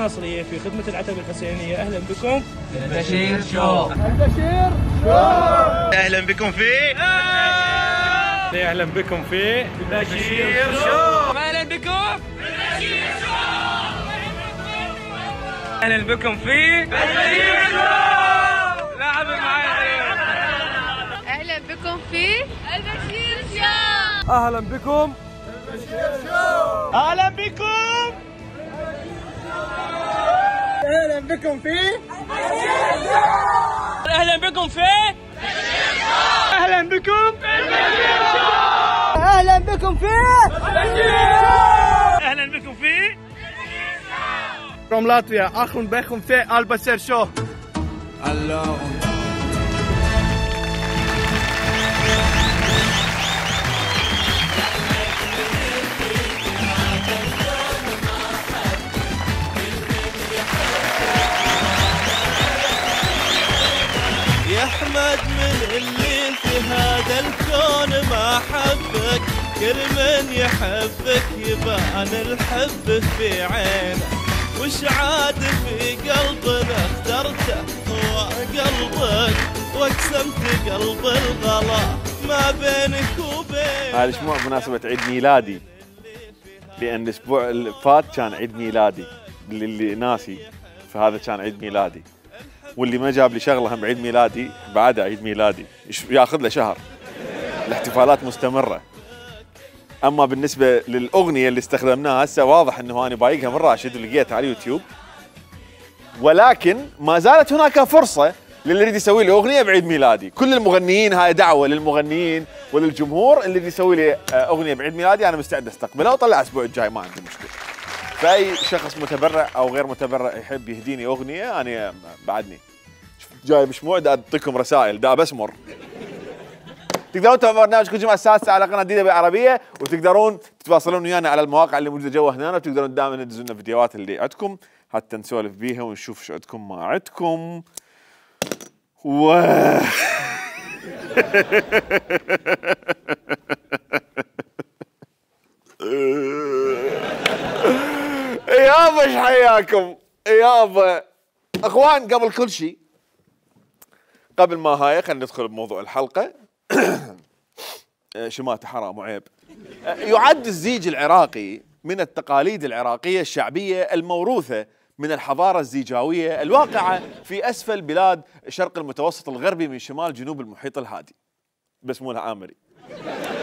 الناصرية في خدمة العتبة الحسينية. أهلا بكم البشير شو. البشير شو. أهلا بكم في أهلا بكم في البشير شو. اهلا بكم البشير شو. اهلا بكم في البشير شو. لعب معايا. اهلا بكم في البشير شو. أهلا بكم البشير شو. أهلا بكم. أهلا بكم في البشير شو. اهلا بكم في أهلا بكم. أهلا بكم في أهلا بكم في from Latvia. أهلا بكم في البشير شو. يا احمد من اللي في هذا الكون ما حبك، كل من يحبك يبان الحب في عينه، وش عاد في قلبنا اخترته هو قلبك، واقسمت قلب الغلا ما بينك وبين. هذا الاسبوع بمناسبة عيد ميلادي، لأن الأسبوع اللي فات كان عيد ميلادي، اللي ناسي فهذا كان عيد ميلادي، واللي ما جاب لي شغله هم بعيد ميلادي بعدها عيد ميلادي ياخذ له شهر. الاحتفالات مستمره. اما بالنسبه للاغنيه اللي استخدمناها هسه واضح انه انا بايقها من راشد ولقيتها على اليوتيوب، ولكن ما زالت هناك فرصه للي يريد يسوي لي اغنيه بعيد ميلادي. كل المغنيين، هاي دعوه للمغنيين وللجمهور اللي يريد يسوي لي اغنيه بعيد ميلادي انا مستعد استقبلها واطلعها الاسبوع الجاي، ما عندي مشكله. فاي شخص متبرع او غير متبرع يحب يهديني اغنيه انا بعدني جاي مشموع دا اعطيكم رسائل دا بسمر. تقدرون تتابعون برنامجكم الجمعه السادسه على قناه جديده بالعربيه، وتقدرون تتواصلون ويانا على المواقع اللي موجوده جوا هنا، وتقدرون دائما تدزون لنا فيديوهات اللي عندكم حتى نسولف بيها ونشوف شو عندكم ما عندكم. يابا ايش حياكم يابا اخوان. قبل كل شيء، قبل ما هاي خلينا ندخل بموضوع الحلقه. شماته حرام وعيب. يعد الزيج العراقي من التقاليد العراقيه الشعبيه الموروثه من الحضاره الزيجاويه الواقعه في اسفل بلاد شرق المتوسط الغربي من شمال جنوب المحيط الهادي. بسمولها آمري.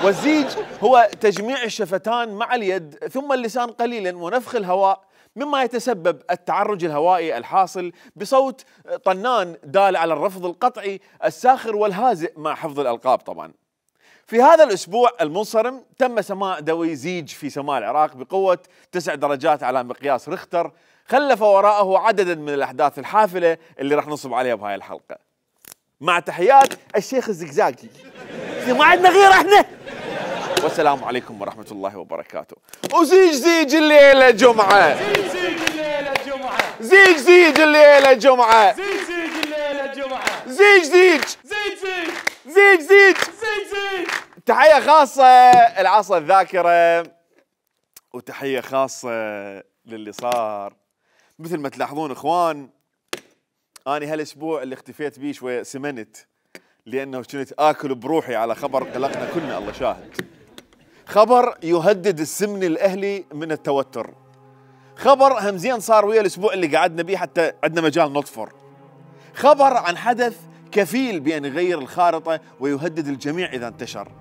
والزيج هو تجميع الشفتان مع اليد ثم اللسان قليلا ونفخ الهواء، مما يتسبب التعرج الهوائي الحاصل بصوت طنان دال على الرفض القطعي الساخر والهازئ مع حفظ الألقاب طبعا. في هذا الأسبوع المنصرم تم سماع دوي زيج في سماء العراق بقوة 9 درجات على مقياس ريختر، خلف وراءه عددا من الأحداث الحافلة اللي راح نصب عليها بهاي الحلقة. مع تحيات الشيخ الزقزاقي. ما عندنا غير احنا. والسلام عليكم ورحمة الله وبركاته. وزيج زيج الليلة جمعة. زيج زيج الليلة جمعة. زيج زيج الليلة جمعة. زيج زيج الليلة جمعة. زيج زيج. زيج زيج. زيج زيج. زيج زيج. تحية خاصة العصا الذاكرة، وتحية خاصة للي صار. مثل ما تلاحظون اخوان، أنا هالاسبوع اللي اختفيت بيه شوية سمنت، لأنه كنت آكل بروحي على خبر قلقنا كلنا الله شاهد. خبر يهدد السمن الأهلي من التوتر. خبر همزين صار ويا الأسبوع اللي قعدنا بيه حتى عندنا مجال نطفر. خبر عن حدث كفيل بأن يغير الخارطة ويهدد الجميع إذا انتشر.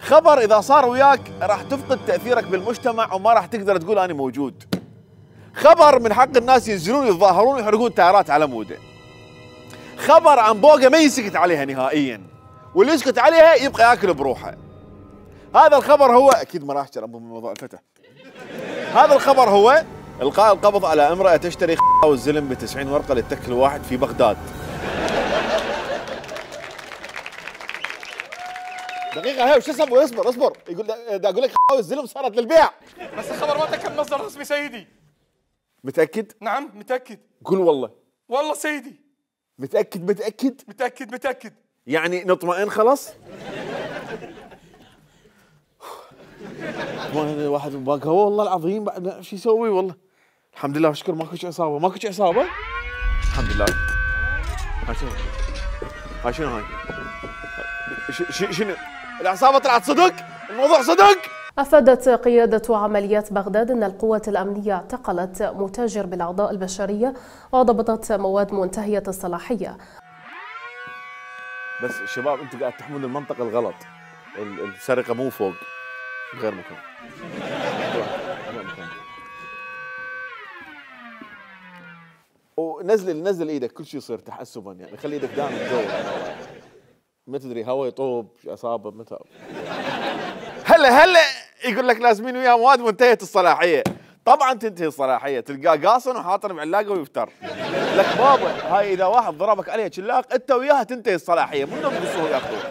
خبر إذا صار وياك راح تفقد تأثيرك بالمجتمع وما راح تقدر تقول أنا موجود. خبر من حق الناس ينزلون يتظاهرون ويحرقون تايرات على موده. خبر عن بوقة ما يسكت عليها نهائيا، واللي يسكت عليها يبقى ياكل بروحه. هذا الخبر هو اكيد ما راح اشتري من موضوع الفتح. هذا الخبر هو القاء القبض على امرأة تشتري والزلم ب90 ورقة للتكل واحد في بغداد. دقيقة هاي وش اسمه؟ اصبر يقول دا اقول لك والزلم صارت للبيع. بس الخبر ما تأكد مصدر رسمي سيدي. متأكد؟ نعم متأكد. قول والله. والله سيدي. متأكد؟ متأكد. يعني نطمئن خلاص؟ واحد باقي والله العظيم بعد شو يسوي والله؟ الحمد لله وشكر ماكو شيء اصابه، ماكو شيء اصابه. الحمد لله. هاي شنو؟ هاي شنو هاي؟ شنو؟ العصابه طلعت صدق؟ الموضوع صدق؟ أفادت قيادة عمليات بغداد أن القوات الأمنية اعتقلت متاجر بالأعضاء البشرية وضبطت مواد منتهية الصلاحية. بس شباب انتم قاعد تحمون المنطقة الغلط. السرقة مو فوق، غير مكان. ونزل ايدك، كل شيء يصير تحسبا يعني، خلي ايدك دائما تدور. ما تدري هوا يطوب اصابه متى. هلا يقول لك لازمين وياه مواد منتهيه الصلاحيه. طبعا تنتهي الصلاحيه، تلقاه قاصن وحاطن بعلاقه ويفتر. لك بابا هاي اذا واحد ضربك عليها شلاق انت وياها تنتهي الصلاحيه، منو بقصوها ياخذوها.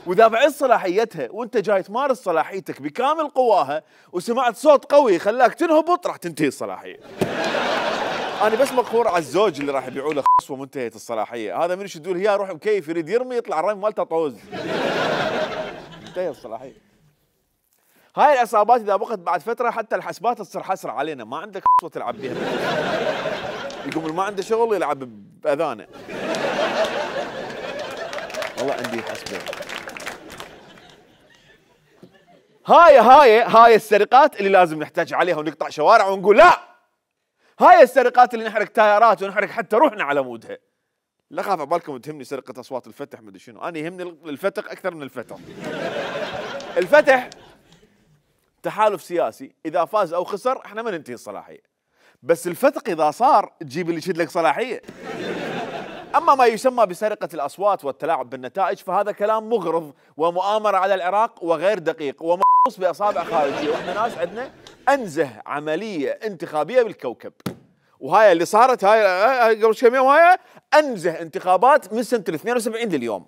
واذا بعد صلاحيتها وانت جاي تمارس صلاحيتك بكامل قواها وسمعت صوت قوي خلاك تنهبط راح تنتهي الصلاحيه. انا بس مقهور على الزوج اللي راح يبيعوا له خصوه منتهيه الصلاحيه، هذا من يشدوا له اياه يروح مكيف يريد يرمي يطلع الرمي مالته طوز. منتهيه الصلاحيه. هاي العصابات اذا بقت بعد فتره حتى الحسبات تصير حسره علينا، ما عندك خصوه تلعب بها. يقوم ما عنده شغل يلعب باذانه. والله عندي حسبه. هاي السرقات اللي لازم نحتاج عليها ونقطع شوارع ونقول لا. هاي السرقات اللي نحرق تايرات ونحرق حتى روحنا على مودها. لا خاف عبالكم تهمني سرقة أصوات الفتح مدري شنو، أنا يهمني الفتح أكثر من الفتح. الفتح تحالف سياسي، إذا فاز أو خسر احنا ما ننتهي الصلاحية. بس الفتح إذا صار تجيب اللي يشد لك صلاحية. أما ما يسمى بسرقة الأصوات والتلاعب بالنتائج فهذا كلام مغرض ومؤامرة على العراق وغير دقيق ومخصوص بأصابع خارجية، واحنا ناس عندنا أنزه عملية انتخابية بالكوكب. وهاي اللي صارت هاي قبل كم يوم هاي أنزه انتخابات من سنة 72 لليوم.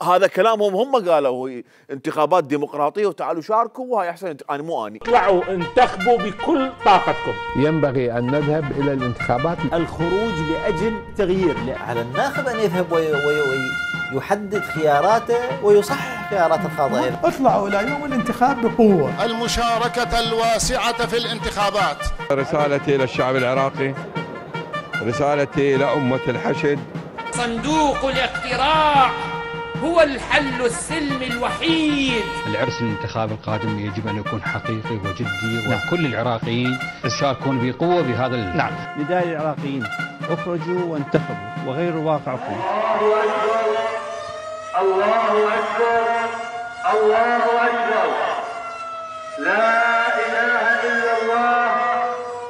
هذا كلامهم هم قالوا انتخابات ديمقراطية وتعالوا شاركوا وهاي أحسن. أنا مو أني. اطلعوا انتخبوا بكل طاقتكم. ينبغي أن نذهب إلى الانتخابات. الخروج لأجل تغيير. على الناخب أن يذهب ويحدد خياراته ويصحح خيارات الخاضعين. اطلعوا إلى يوم الانتخاب بقوة. المشاركة الواسعة في الانتخابات. رسالتي إلى الشعب العراقي، رسالتي إلى أمة الحشد. صندوق الاقتراع هو الحل السلمي الوحيد. العرس الانتخابي القادم يجب أن يكون حقيقي وجدي وكل العراقيين يشاركون بقوة بهذا نعم. نداء العراقيين اخرجوا وانتخبوا وغيروا واقعكم. الله أكبر الله أكبر الله أكبر لا إله إلا الله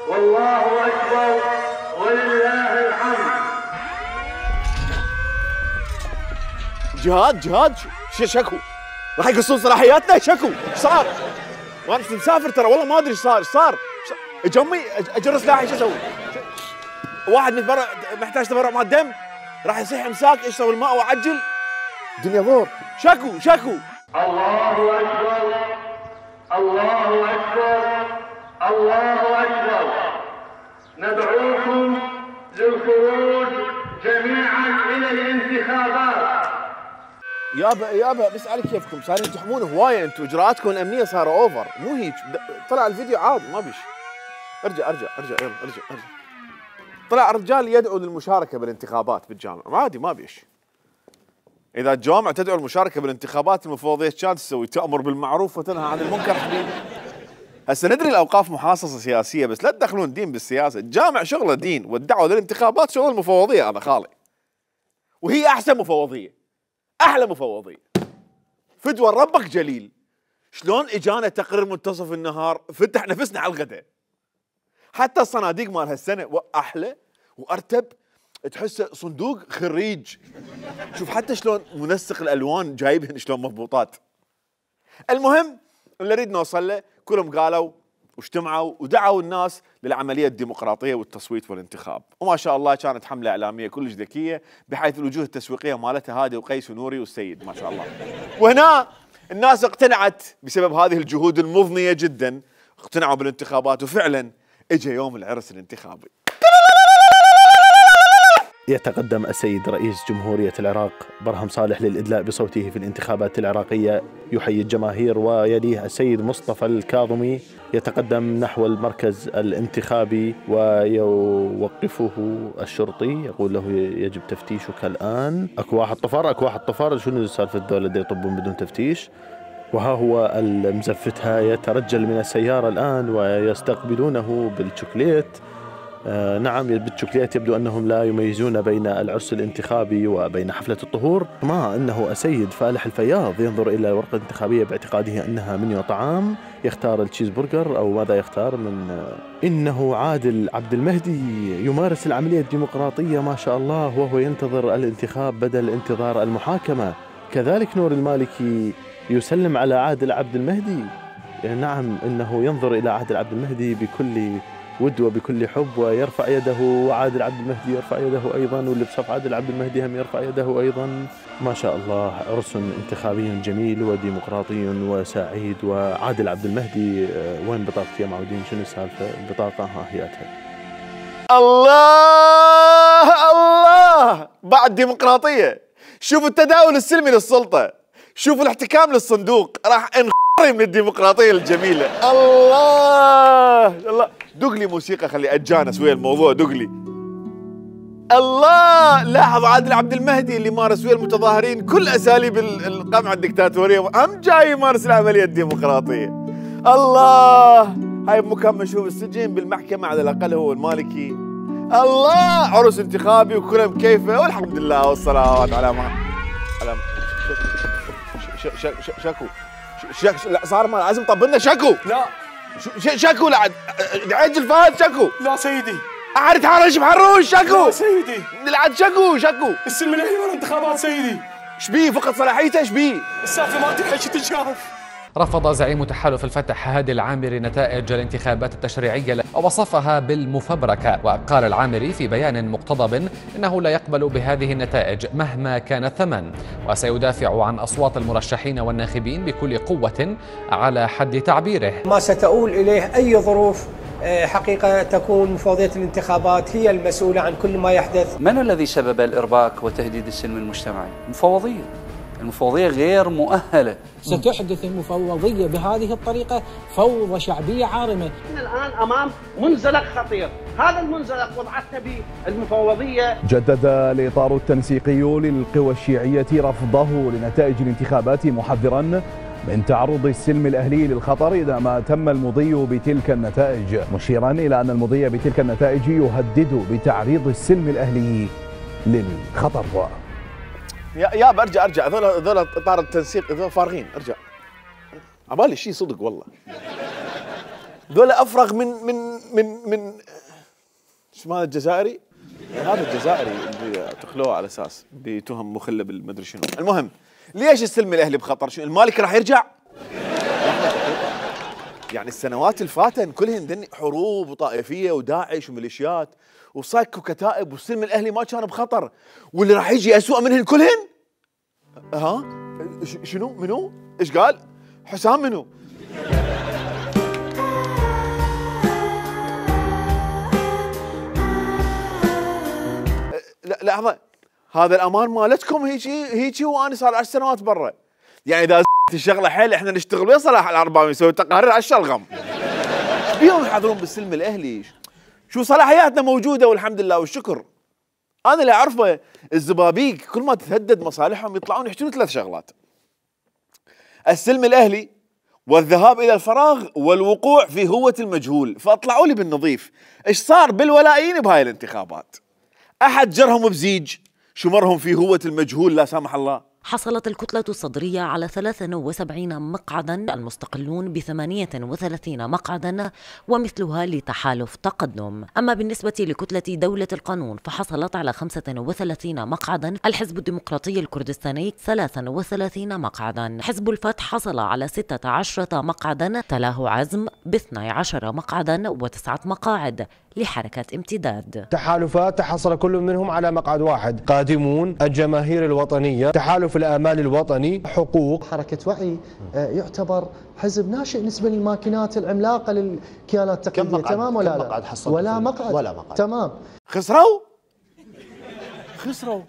والله أكبر ولله الحمد. جهاد شكو راح يقصون صلاحياتنا. شكو صار وانا كنت مسافر ترى والله ما ادري ايش صار جمي اجر سلاحي شو اسوي؟ واحد محتاج تبرع مع الدم راح يصيح امساك اشرب الماء واعجل. الدنيا ضور. شكو الله اكبر الله اكبر الله اكبر. ندعوكم للخروج جميعا الى الانتخابات. يابا بس على كيفكم صارين تحمون هوايه انتم، اجراءاتكم الامنيه صاروا اوفر مو هيك. طلع الفيديو عادي ما بيش. ارجع يلا ارجع. طلع رجال يدعو للمشاركه بالانتخابات بالجامع عادي ما بيش. اذا الجوامع تدعو للمشاركه بالانتخابات المفوضيه كانت تسوي؟ تامر بالمعروف وتنهى عن المنكر حبيبي. هسه ندري الاوقاف محاصصه سياسيه بس لا تدخلون الدين بالسياسه. الجامع شغله دين والدعوه للانتخابات شغل المفوضيه. هذا خالي وهي احسن مفوضيه احلى مفوضيه. فدوى ربك جليل. شلون اجانا تقرير منتصف النهار فتح نفسنا على الغداء. حتى الصناديق مال هالسنه احلى وارتب، تحسه صندوق خريج. شوف حتى شلون منسق الالوان جايبهن شلون مضبوطات. المهم اللي نريد نوصل له كلهم قالوا واجتمعوا ودعوا الناس للعمليه الديمقراطيه والتصويت والانتخاب، وما شاء الله كانت حمله اعلاميه كلش ذكيه بحيث الوجوه التسويقيه مالتها هادي وقيس ونوري والسيد ما شاء الله. وهنا الناس اقتنعت بسبب هذه الجهود المضنيه جدا، اقتنعوا بالانتخابات وفعلا اجى يوم العرس الانتخابي. يتقدم السيد رئيس جمهورية العراق برهم صالح للإدلاء بصوته في الانتخابات العراقية يحيي الجماهير، ويليه السيد مصطفى الكاظمي يتقدم نحو المركز الانتخابي ويوقفه الشرطي يقول له يجب تفتيشك الآن. أكو واحد طفر شنو سالفة الدولة دي يطبون بدون تفتيش؟ وها هو المزفتها يترجل من السيارة الآن ويستقبلونه بالشوكليت. نعم بالشوكليت. يبدو أنهم لا يميزون بين العرس الانتخابي وبين حفلة الطهور. ما أنه السيد فالح الفياض ينظر إلى الورقة الانتخابية باعتقاده أنها منيو طعام، يختار التشيز برجر أو ماذا يختار من. إنه عادل عبد المهدي يمارس العملية الديمقراطية ما شاء الله وهو ينتظر الانتخاب بدل انتظار المحاكمة. كذلك نور المالكي يسلم على عادل عبد المهدي. نعم إنه ينظر إلى عادل عبد المهدي بكل ود وبكل حب ويرفع يده، وعادل عبد المهدي يرفع يده أيضا، واللي بصف عادل عبد المهدي هم يرفع يده أيضا. ما شاء الله عرس انتخابي جميل وديمقراطي وسعيد. وعادل عبد المهدي وين بطاقتي يا معودين؟ شنو السالفة؟ البطاقة ها هياتها. الله بعد ديمقراطية. شوفوا التداول السلمي للسلطة، شوفوا الاحتكام للصندوق، راح انخري من الديمقراطية الجميلة. الله دق لي موسيقى خلي اتجانس ويا الموضوع. دق لي الله. لاحظ عادل عبد المهدي اللي مارس ويا المتظاهرين كل اساليب القمع الدكتاتورية هم جاي يمارس العملية الديمقراطية. الله هاي بمكان مشهور بالسجن بالمحكمة على الاقل هو المالكي. الله عرس انتخابي وكلها بكيفه والحمد لله والصلوات على ما شكو لا صار ما لازم طبلنا شكو. لا شكو لا عجل فهد شكو. لا سيدي اعرف حرش بحروش شكو. لا سيدي نلعب شكو السلم الاهلي والانتخابات سيدي. شبيه فقد صلاحيته شبيه السالفه ما تلحق تتشاف. رفض زعيم تحالف الفتح هادي العامري نتائج الانتخابات التشريعية ووصفها بالمفبركة. وقال العامري في بيان مقتضب إنه لا يقبل بهذه النتائج مهما كان الثمن، وسيدافع عن أصوات المرشحين والناخبين بكل قوة على حد تعبيره. ما ستؤول إليه أي ظروف حقيقة تكون مفوضية الانتخابات هي المسؤولة عن كل ما يحدث. من الذي سبب الإرباك وتهديد السلم المجتمعي؟ المفوضية غير مؤهلة. ستحدث المفوضية بهذه الطريقة فوضى شعبية عارمة. احنا الآن أمام منزلق خطير، هذا المنزلق وضعتنا به المفوضية. جدد الإطار التنسيقي للقوى الشيعية رفضه لنتائج الانتخابات محذرا من تعرض السلم الأهلي للخطر إذا ما تم المضي بتلك النتائج، مشيرا إلى أن المضي بتلك النتائج يهدد بتعريض السلم الأهلي للخطر. يا برجع هذول اطار التنسيق هذول فارغين. ارجع عبالي شيء صدق والله. ذول افرغ من شو هذا الجزائري؟ هذا الجزائري اللي اعتقلوه على اساس بتهم مخله بالمدري شنو. المهم ليش السلم الاهلي بخطر؟ شو المالك راح يرجع؟ يعني السنوات الفاتن كلهن حروب وطائفيه وداعش وميليشيات وصك وكتائب، والسلم الاهلي ما كان بخطر، واللي راح يجي اسوء منهن كلهن. ها شنو منو؟ ايش قال؟ حسام منو؟ لا لحظه، هذا الامان مالتكم هيجي وانا صار 10 سنوات برا. يعني اذا الشغله حيل احنا نشتغل ويا صلاح العرباوي نسوي تقارير على الشلغم. بيهم يحضرون بالسلم الاهلي؟ شو صلاحياتنا موجوده والحمد لله والشكر. انا اللي اعرفه الزبابيق كل ما تتهدد مصالحهم يطلعون يحجون 3 شغلات: السلم الاهلي والذهاب الى الفراغ والوقوع في هوة المجهول. فاطلعوا لي بالنظيف، ايش صار بالولايين بهاي الانتخابات؟ احد جرهم بزيج؟ شمرهم في هوة المجهول لا سامح الله. حصلت الكتلة الصدرية على 73 مقعدا، المستقلون ب38 مقعدا ومثلها لتحالف تقدم. أما بالنسبة لكتلة دولة القانون فحصلت على 35 مقعدا، الحزب الديمقراطي الكردستاني 33 مقعدا، حزب الفتح حصل على 16 مقعدا، تلاه عزم ب12 مقعدا و9 مقاعد لحركة امتداد. تحالفات تحصل كل منهم على مقعد واحد: قادمون، الجماهير الوطنية، تحالف الآمال الوطني، حقوق. حركة وعي يعتبر حزب ناشئ بالنسبة للماكينات العملاقة للكيانات التقليدية. تمام ولا لا؟ مقعد حصل؟ ولا مقعد. ولا مقعد. تمام. خسروا؟ خسروا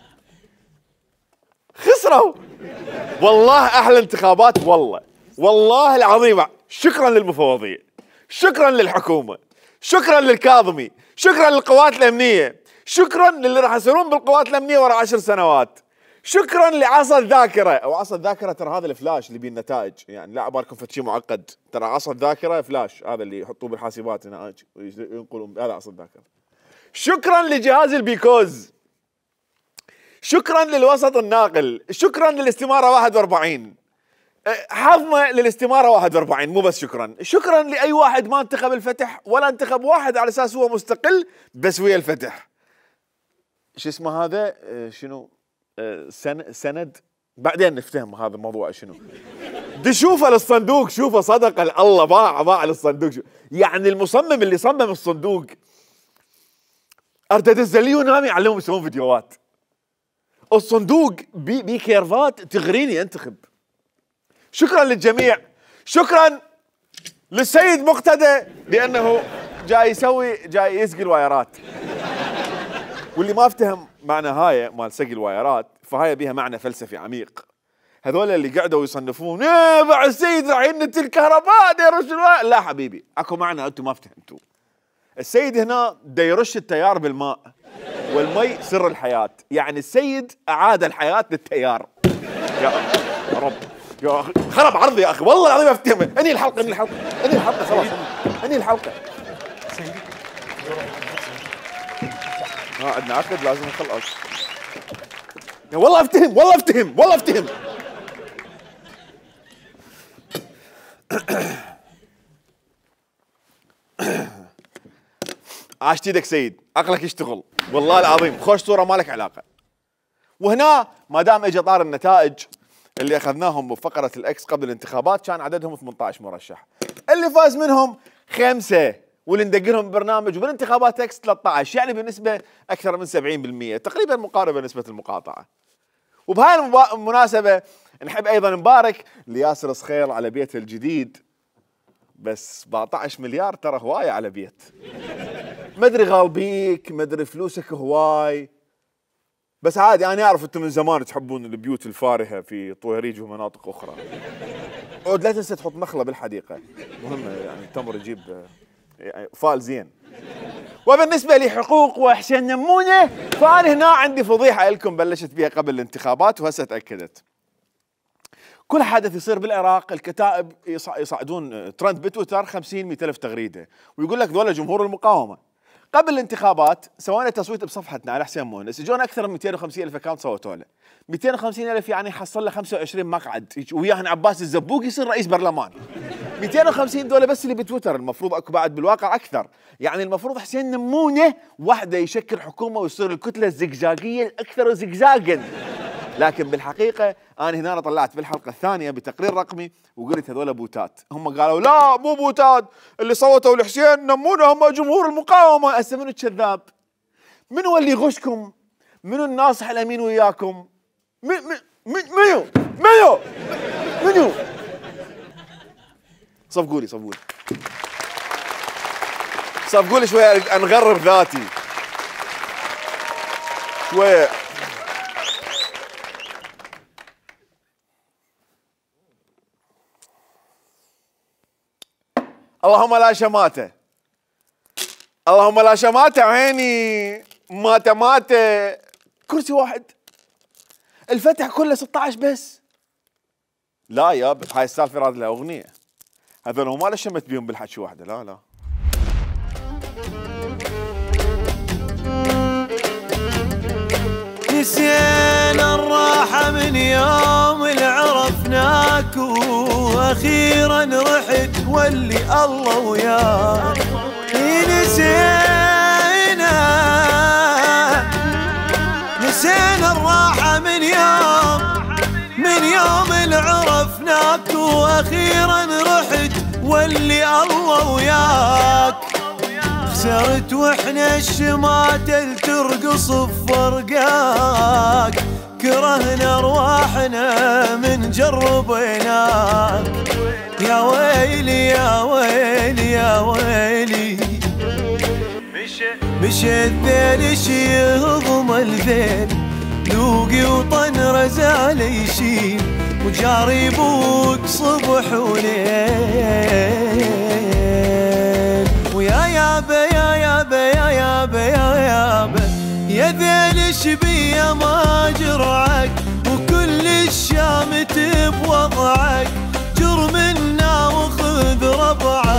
والله. احلى انتخابات والله العظيم. شكرا للمفوضيه، شكرا للحكومه، شكرا للكاظمي، شكرا للقوات الامنيه، شكرا للي راح يصيرون بالقوات الامنيه ورا 10 سنوات، شكرا لعصا الذاكره. او عصا الذاكره ترى هذا الفلاش اللي بيه النتائج، يعني لا عبالكم فد شيء معقد، ترى عصا الذاكره فلاش، هذا اللي يحطوه بالحاسبات هنا وينقلون، هذا عصا الذاكره. شكرا لجهاز البيكوز، شكرا للوسط الناقل، شكرا للاستماره 41، حظنا للاستماره 41. مو بس شكرا لاي واحد ما انتخب الفتح ولا انتخب واحد على اساس هو مستقل بس ويا الفتح. شو اسمه هذا؟ شنو؟ سند. بعدين نفتهم هذا الموضوع شنو. دي شوفه للصندوق، شوفه صدق الله باع للصندوق. يعني المصمم اللي صمم الصندوق اردد الزلي ونامي علمهم يسوون فيديوهات. الصندوق بي كيرفات تغريني انتخب. شكرا للجميع، شكرا للسيد مقتدى لانه جاي يسقي الوايرات. واللي ما افتهم معنى هاي مال سقي الوايرات فهاي بيها معنى فلسفي عميق. هذول اللي قعدوا يصنفون بعد السيد راح ينت الكهرباء يرش الواير. لا حبيبي، اكو معنى انتم ما افتهمتوا. السيد هنا دا يرش التيار بالماء، والمي سر الحياة. يعني السيد اعاد الحياة للتيار. يا رب يا اخي خرب عرضي يا اخي والله العظيم افتهم. انهي الحلقة خلاص، انهي الحلقة. عندنا عقد لازم نخلص. والله افتهم. عاشت ايدك سيد، عقلك يشتغل والله العظيم. خوش صورة ما لك علاقة. وهنا ما دام اجى طار النتائج اللي اخذناهم بفقرة الاكس قبل الانتخابات كان عددهم 18 مرشح، اللي فاز منهم 5 واللي ندق لهم برنامج، وبالانتخابات اكس 13، يعني بنسبة اكثر من 70%، تقريبا مقاربة نسبة المقاطعة. وبهاي المناسبة نحب ايضا نبارك لياسر صخير على بيته الجديد، بس 17 مليار ترى هواية على بيت. مدري غالبيك، مدري فلوسك هواي، بس عادي انا اعرف انتم من زمان تحبون البيوت الفارهة في طويريج ومناطق اخرى. عود لا تنسى تحط نخلة بالحديقة، مهمة يعني التمر يجيب فال زين. وبالنسبة لحقوق وحسين نمونة فأنا هنا عندي فضيحة لكم بلشت بها قبل الانتخابات وهسه تأكدت. كل حدث يصير بالعراق الكتائب يصعدون ترند بتويتر 50-100 ألف تغريدة ويقول لك ذولا جمهور المقاومة. قبل الانتخابات سوينا تصويت بصفحتنا على حسين مونس، اجونا اكثر من 250 ألف اكونت صوتوا له. 250 ألف يعني حصل له 25 مقعد وياهن عباس الزبوق يصير رئيس برلمان. 250 دولة بس اللي بتويتر، المفروض اكو بعد بالواقع اكثر. يعني المفروض حسين نمونة وحده يشكل حكومة ويصير الكتلة الزقزاقية الاكثر زقزاقا. لكن بالحقيقة أنا هنا طلعت بالحلقة الثانية بتقرير رقمي وقلت هذول بوتات. هم قالوا لا مو بوتات، اللي صوتوا لحسين نمونة هم جمهور المقاومة. هسه منو الكذاب؟ منو اللي يغشكم؟ منو الناصح الأمين وياكم؟ منو؟ صفقولي شوية أنغرب ذاتي شوية. اللهم لا شماتة عيني، ماتة كرسي واحد. الفتح كله 16 بس. لا ياب هاي السالفة راد لها أغنية، هذول هم ما شمت بيهم بالحكي واحدة. لا نسينا الراحة من يوم اللي عرفناك واخيرا رحت واللي الله وياك. نسينا الراحة من يوم اللي عرفناك واخيرا رحت واللي الله وياك. خسرت واحنا الشماتة ترقص بفرقاك، كرهنا ارواحنا من جربيناك. يا ويلي يا ويلي يا ويلي، مشى الذيل يهضم الذيل لوقي وطن رزال يشيل وجاري بوك صبح وليل. ويا يابا يا يابا يا يابا يا يابا يا ذيل شبيه ما جرعك وكل الشامت بوضعك جر منا وخذ ربعك.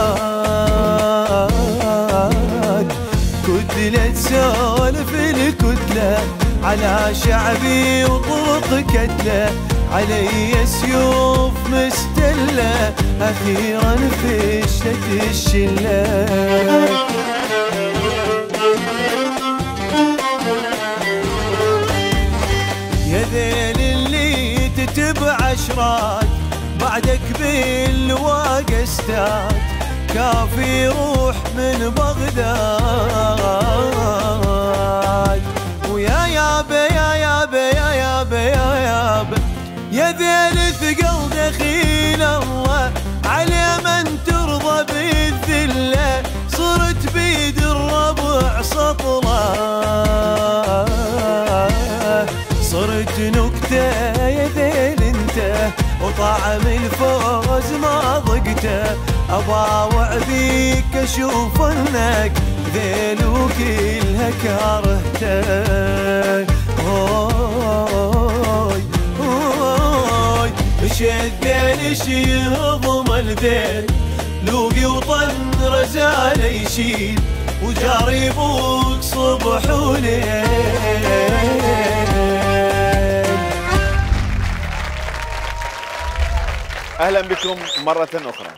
كتلة سولف الكتلة على شعبي وطرق كتلة علي سيوف مستلة أخيرا فشلت الشلة. يا ذيل اللي تتبع اشراك بعدك بالواقع استاد كافي روح من بغداد. ويا يابا يا يابا يا يابا يا يابا يا ذيل ثقل دخيل الله على من ترضى بالذله صرت بيد الربع سطله صرت نكته يا ذيل انت وطعم الفوز ما ضقته أباوع بيك أشوف أنك ذيل وكلها كارهته. هوي هوي اش الذيل اش يهضم الذيل لوقي وطن رزال يشيل وجاري بوك صبح وليل. أهلا بكم مرة أخرى.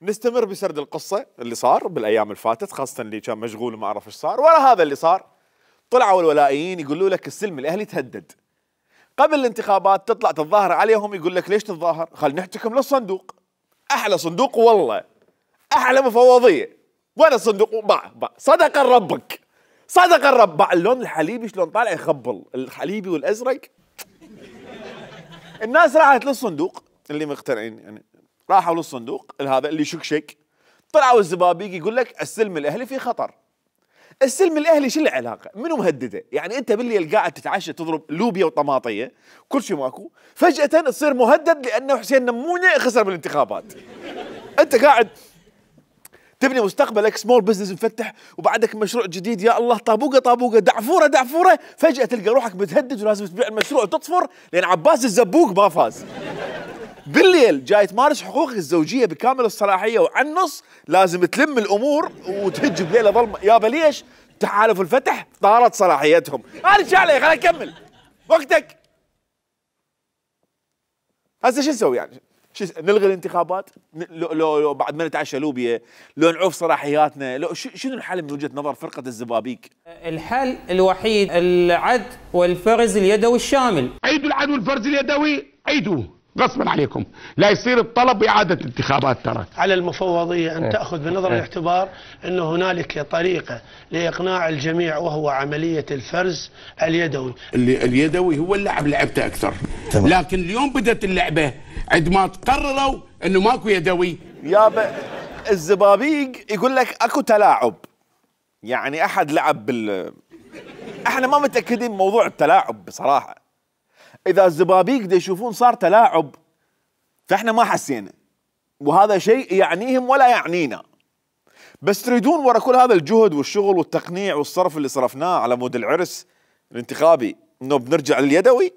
نستمر بسرد القصة اللي صار بالأيام الفاتت، خاصة اللي كان مشغول وما عرف إيش صار. ورا هذا اللي صار طلعوا الولائيين يقولوا لك السلم الأهلي تهدد. قبل الانتخابات تطلع تتظاهر عليهم يقول لك ليش تتظاهر؟ خل نحتكم للصندوق. أحلى صندوق والله، أحلى مفوضية. وين الصندوق؟ باع صدق ربك، صدق الرب. باع اللون الحليبي شلون طالع يخبل، الحليبي والأزرق. الناس راحت للصندوق اللي مقتنعين يعني راحوا للصندوق هذا اللي شك طلعوا الزبابيق يقول لك السلم الاهلي في خطر. السلم الاهلي شو العلاقه؟ منو مهدده؟ يعني انت بالليل قاعد تتعشى تضرب لوبيا وطماطيه كل شيء ماكو، فجاه تصير مهدد لانه حسين نمونه خسر بالانتخابات. انت قاعد تبني مستقبلك سمول بزنس مفتح وبعدك مشروع جديد، يا الله طابوقه طابوقه دعفوره دعفوره، فجاه تلقى روحك بتهدد ولازم تبيع المشروع وتطفر لان عباس الزبوق ما فاز. بالليل جاي تمارس حقوقك الزوجيه بكامل الصلاحيه وعن النص لازم تلم الامور وتهج بليله ظلمه. يابا ليش؟ تحالف الفتح طارت صلاحيتهم. انا شو علي؟ خليني اكمل وقتك. هسه شو نسوي يعني؟ نلغي الانتخابات؟ لو بعد ما نتعشى لوبيا؟ لو نعوف صلاحياتنا؟ لو شنو الحل من وجهه نظر فرقه الزبابيق؟ الحل الوحيد العد والفرز اليدوي الشامل. عيدوا العد والفرز اليدوي، عيدوه غصبا عليكم، لا يصير الطلب بإعادة انتخابات. ترى على المفوضية أن تأخذ بنظر الاعتبار أن هنالك طريقة لإقناع الجميع وهو عملية الفرز اليدوي. اليدوي هو اللعب لعبته أكثر. لكن اليوم بدأت اللعبة عندما قرروا أنه ماكو يدوي. يابا الزبابيق يقول لك أكو تلاعب، يعني أحد لعب احنا ما متأكدين من موضوع التلاعب بصراحة. إذا الزبابيق دا يشوفون صار تلاعب فإحنا ما حسينا، وهذا شيء يعنيهم ولا يعنينا. بس تريدون ورا كل هذا الجهد والشغل والتقنيع والصرف اللي صرفناه على مود العرس الانتخابي إنه بنرجع لليدوي؟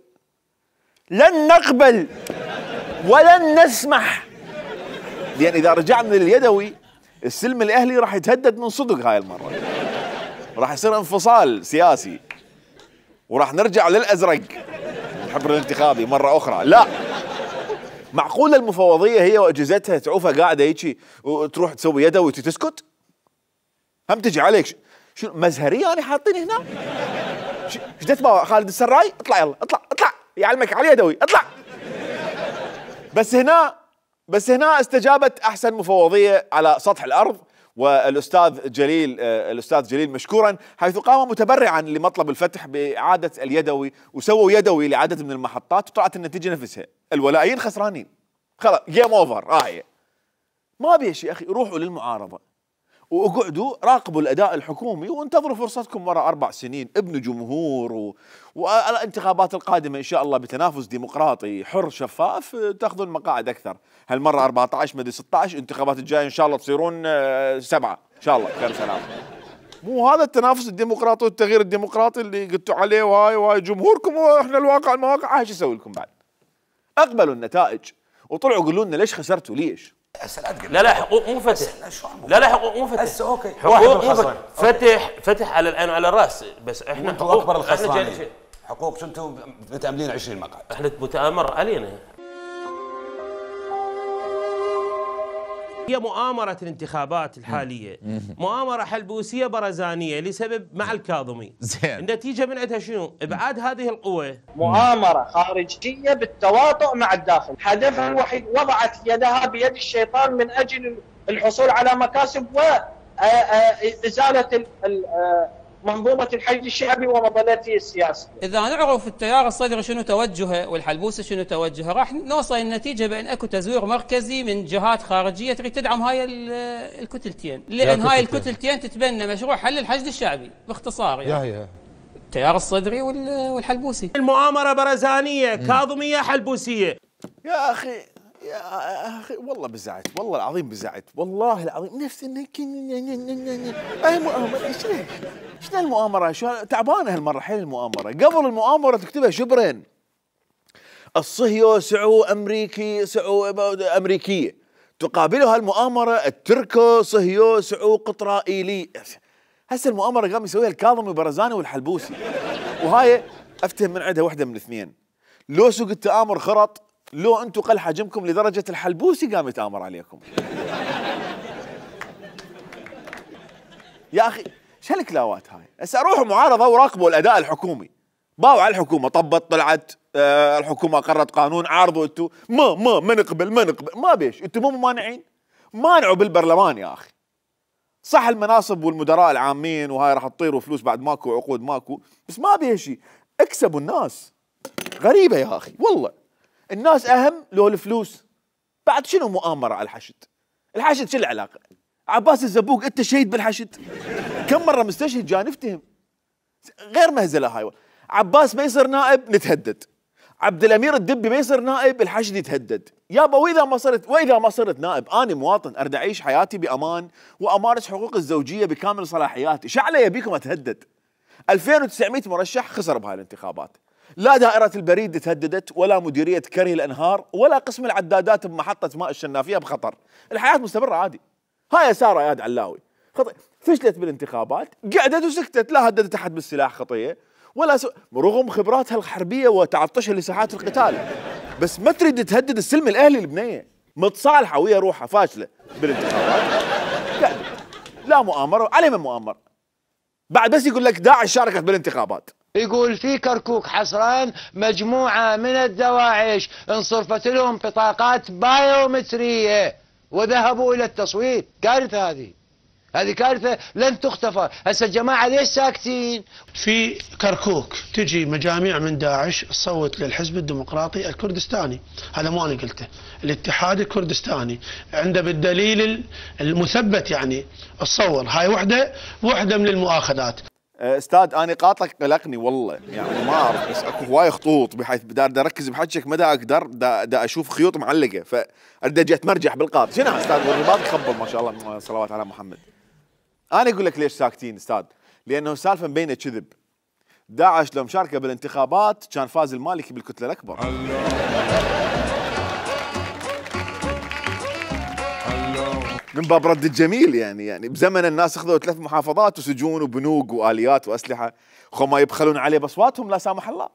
لن نقبل ولن نسمح، لأن إذا رجعنا لليدوي السلم الأهلي راح يتهدد من صدق. هاي المرة راح يصير انفصال سياسي وراح نرجع للأزرق الحبر الانتخابي مرة أخرى. لا، معقولة المفوضية هي وأجهزتها تعوفها قاعدة هيجي وتروح تسوي يدوي وتسكت؟ هم تجي عليك شو مزهرية يعني حاطين هنا؟ ايش تتبع خالد السراي؟ اطلع يلا اطلع اطلع يعلمك على يدوي اطلع. بس هنا استجابت أحسن مفوضية على سطح الأرض، والأستاذ جليل مشكورا حيث قام متبرعا لمطلب الفتح بإعادة اليدوي، وسووا يدوي لعدد من المحطات وطلعت النتيجة نفسها. الولائيين خسرانين خلاص، جيم اوفر. ما بيش يا أخي، روحوا للمعارضة واقعدوا راقبوا الاداء الحكومي وانتظروا فرصتكم ورا 4 سنين، ابنوا جمهور والانتخابات القادمه ان شاء الله بتنافس ديمقراطي حر شفاف تاخذون مقاعد اكثر، هالمره 14 مدري 16، الانتخابات الجايه ان شاء الله تصيرون 7 ان شاء الله خير سلام. مو هذا التنافس الديمقراطي والتغيير الديمقراطي اللي قلتوا عليه وهاي جمهوركم واحنا الواقع المواقع، هاي شو اسوي لكم بعد؟ اقبلوا النتائج وطلعوا قولوا لنا ليش خسرتوا ليش؟ لا حقوق مو فتح. لا حقوق مو فتح. هسه اوكي حقوق مو فتح على العين وعلى الراس، بس احنا انتم اكبر الخسرانين. حقوق شو انتم متاملين 20 مقعد؟ احنا متآمر علينا. هي مؤامرة الانتخابات الحالية مؤامرة حلبوسية برزانية لسبب مع الكاظمي. زين. النتيجة من عندها شنو؟ ابعاد هذه القوة. مؤامرة خارجية بالتواطؤ مع الداخل، هدفها الوحيد وضعت يدها بيد الشيطان من أجل الحصول على مكاسب وإزالة منظومة الحشد الشعبي ومظلته السياسية. إذا نعرف التيار الصدري شنو توجهه والحلبوسي شنو توجهه، راح نوصل النتيجة بأن اكو تزوير مركزي من جهات خارجية تريد تدعم هاي الكتلتين، لأن هاي الكتلتين تتبنى مشروع حل الحشد الشعبي باختصار يعني. التيار الصدري والحلبوسي. المؤامرة برزانية كاظمية حلبوسية. يا أخي والله بزعت، والله العظيم بزعت، والله العظيم نفس اي مؤامرة. شنو المؤامرة؟ شو تعبانة هالمرة حيل المؤامرة. قبل المؤامرة تكتبها شبرين، الصهيو سعو أمريكية، تقابلها المؤامرة التركو صهيو سعو قطرائيلي. هسه المؤامرة قام يسويها الكاظمي وبرزاني والحلبوسي، وهاي افتهم من عندها وحدة من الاثنين، لو سوق التآمر خرط، لو انتم قل حجمكم لدرجة الحلبوسي قام يتآمر عليكم. يا اخي شو هالكلاوات هاي؟ هسه روحوا معارضة وراقبوا الاداء الحكومي، باوا على الحكومة، طبت طلعت الحكومة قررت قانون، عارضوا انتم ما نقبل ما بيش، انتم مو ممانعين؟ مانعوا بالبرلمان يا اخي. صح المناصب والمدراء العامين وهاي راح تطيروا فلوس بعد ماكو عقود ماكو، بس ما بيشي، اكسبوا الناس. غريبة يا اخي والله، الناس اهم لو الفلوس. بعد شنو مؤامرة على الحشد؟ الحشد شو العلاقة؟ عباس الزبوق انت شهيد بالحشد؟ كم مرة مستشهد جاي نفتهم. غير مهزلة هاي. عباس ما يصير نائب نتهدد، عبد الامير الدبي ما يصير نائب الحشد يتهدد. يابا واذا ما صرت نائب، انا مواطن اريد اعيش حياتي بامان وامارس حقوق الزوجية بكامل صلاحياتي، شعله يبيكم اتهدد؟ 2900 مرشح خسر بهاي الانتخابات، لا دائرة البريد تهددت ولا مديرية كري الأنهار ولا قسم العدادات بمحطة ماء الشنافية بخطر. الحياة مستمرة عادي. هاي سارة اياد علاوي فشلت بالانتخابات، قعدت وسكتت، لا هددت أحد بالسلاح خطية ولا رغم خبراتها الحربية وتعطشها لساحات القتال، بس ما تريد تهدد السلم الأهلي البنية، متصالحة ويا روحها فاشلة بالانتخابات. قعدت لا مؤامرة عليه من مؤامرة. بعد بس يقول لك داعش شاركت بالانتخابات. يقول في كركوك حصران مجموعة من الدواعش انصرفت لهم بطاقات بايومترية وذهبوا إلى التصويت. كارثة هذه كارثة لن تغتفر. هسه الجماعة ليش ساكتين؟ في كركوك تجي مجاميع من داعش تصوت للحزب الديمقراطي الكردستاني، هذا مو أنا قلته، الاتحاد الكردستاني عنده بالدليل المثبت يعني تصور. هاي وحدة من المؤاخذات. استاذ انا قاطعك قلقني والله، يعني ما اعرف، بس اكو هواي خطوط بحيث بدي اركز بحكيك ما دا اقدر دا اشوف خيوط معلقه، فاريد اجي اتمرجح بالقاط. شنو استاذ والرباط يخبل ما شاء الله، صلوات على محمد. انا اقول لك ليش ساكتين استاذ، لانه السالفه مبينه كذب. داعش لو مشاركه بالانتخابات كان فاز المالكي بالكتله الاكبر. من باب رد الجميل يعني بزمن الناس اخذوا 3 محافظات وسجون وبنوك واليات واسلحه، خو ما يبخلون عليه باصواتهم لا سامح الله.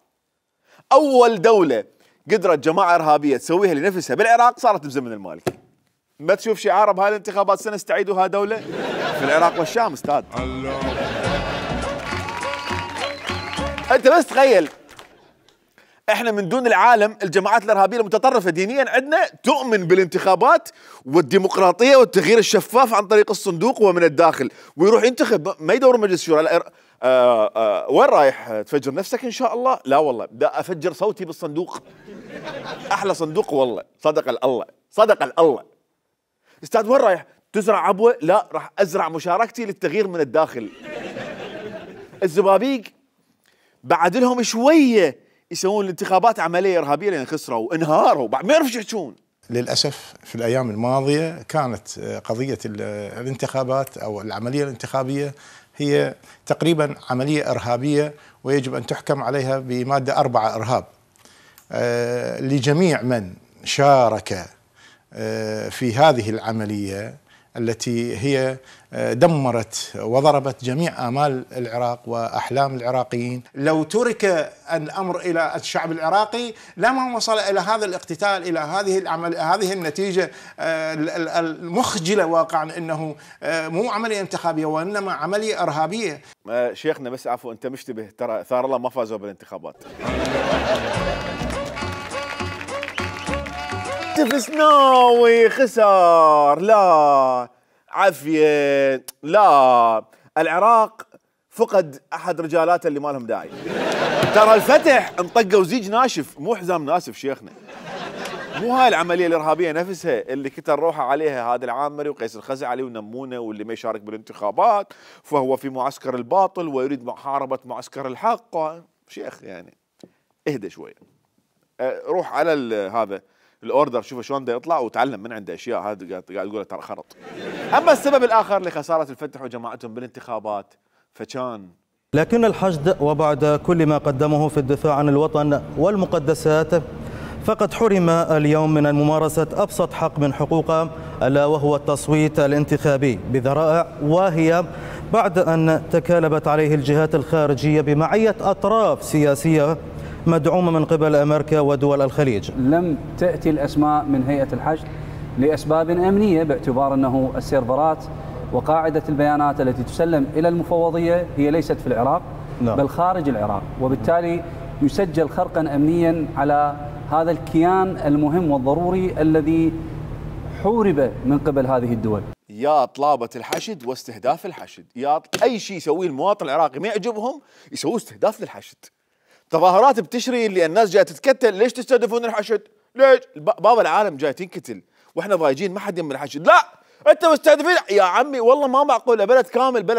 اول دوله قدرت جماعه ارهابيه تسويها لنفسها بالعراق صارت بزمن المالكي. ما تشوف شعار بهاي الانتخابات سنستعيدها دوله في العراق والشام استاذ. انت بس تخيل، احنا من دون العالم الجماعات الارهابيه المتطرفه دينيا عندنا تؤمن بالانتخابات والديمقراطيه والتغيير الشفاف عن طريق الصندوق ومن الداخل، ويروح ينتخب ما يدور مجلس شورى. وين رايح تفجر نفسك ان شاء الله؟ لا والله بدي افجر صوتي بالصندوق. احلى صندوق والله، صدق الله. استاذ وين رايح؟ تزرع عبوه؟ لا، راح ازرع مشاركتي للتغيير من الداخل. الزبابيق بعد لهم شويه يسوون الانتخابات عمليه ارهابيه لان خسروا انهاروا بعد ما يعرفوا ايش يحكون. للأسف في الأيام الماضية كانت قضية الانتخابات أو العملية الانتخابية هي تقريبا عملية إرهابية، ويجب أن تحكم عليها بمادة 4 إرهاب لجميع من شارك في هذه العملية التي هي دمرت وضربت جميع آمال العراق وأحلام العراقيين. لو ترك الأمر إلى الشعب العراقي لما وصل إلى هذا الاقتتال، إلى هذه النتيجة المخجلة واقعا، أنه مو عملية انتخابية وإنما عملية إرهابية. شيخنا بس عفوا، أنت مشتبه، ترى ثار الله ما فازوا بالانتخابات. تفسناوي خسر، لا عافية، لا، العراق فقد أحد رجالاته اللي ما لهم داعي. ترى الفتح انطقوا زيج ناشف مو حزام ناسف شيخنا. مو هاي العملية الإرهابية نفسها اللي كتر روحه عليها هذا العامري وقيس الخزعلي ونمونه، واللي ما يشارك بالانتخابات فهو في معسكر الباطل ويريد محاربة معسكر الحق. شيخ يعني اهدى شوية، روح على هذا الاوردر، شوف شلون دا يطلع وتعلم من عنده اشياء. هذا قاعد يقول ترى خرط. اما السبب الاخر لخساره الفتح وجماعتهم بالانتخابات فكان لكن الحشد وبعد كل ما قدمه في الدفاع عن الوطن والمقدسات فقد حرم اليوم من ممارسة أبسط حق من حقوقه، ألا وهو التصويت الانتخابي بذرائع واهية، بعد أن تكالبت عليه الجهات الخارجية بمعية أطراف سياسية مدعومة من قبل أمريكا ودول الخليج. لم تأتي الأسماء من هيئة الحشد لأسباب أمنية، باعتبار أنه السيرفرات وقاعدة البيانات التي تسلم إلى المفوضية هي ليست في العراق بل خارج العراق، وبالتالي يسجل خرقا أمنيا على هذا الكيان المهم والضروري الذي حورب من قبل هذه الدول. يا طلابة الحشد واستهداف الحشد، يا أي شيء يسويه المواطن العراقي ما يعجبهم يسووه استهداف للحشد. تظاهرات بتشري اللي الناس جايه تتكتل، ليش تستهدفون الحشد؟ ليش؟ بابا العالم جاي تنكتل واحنا ضايجين ما حد يم الحشد، لا انت مستهدفين يا عمي. والله ما معقول بلد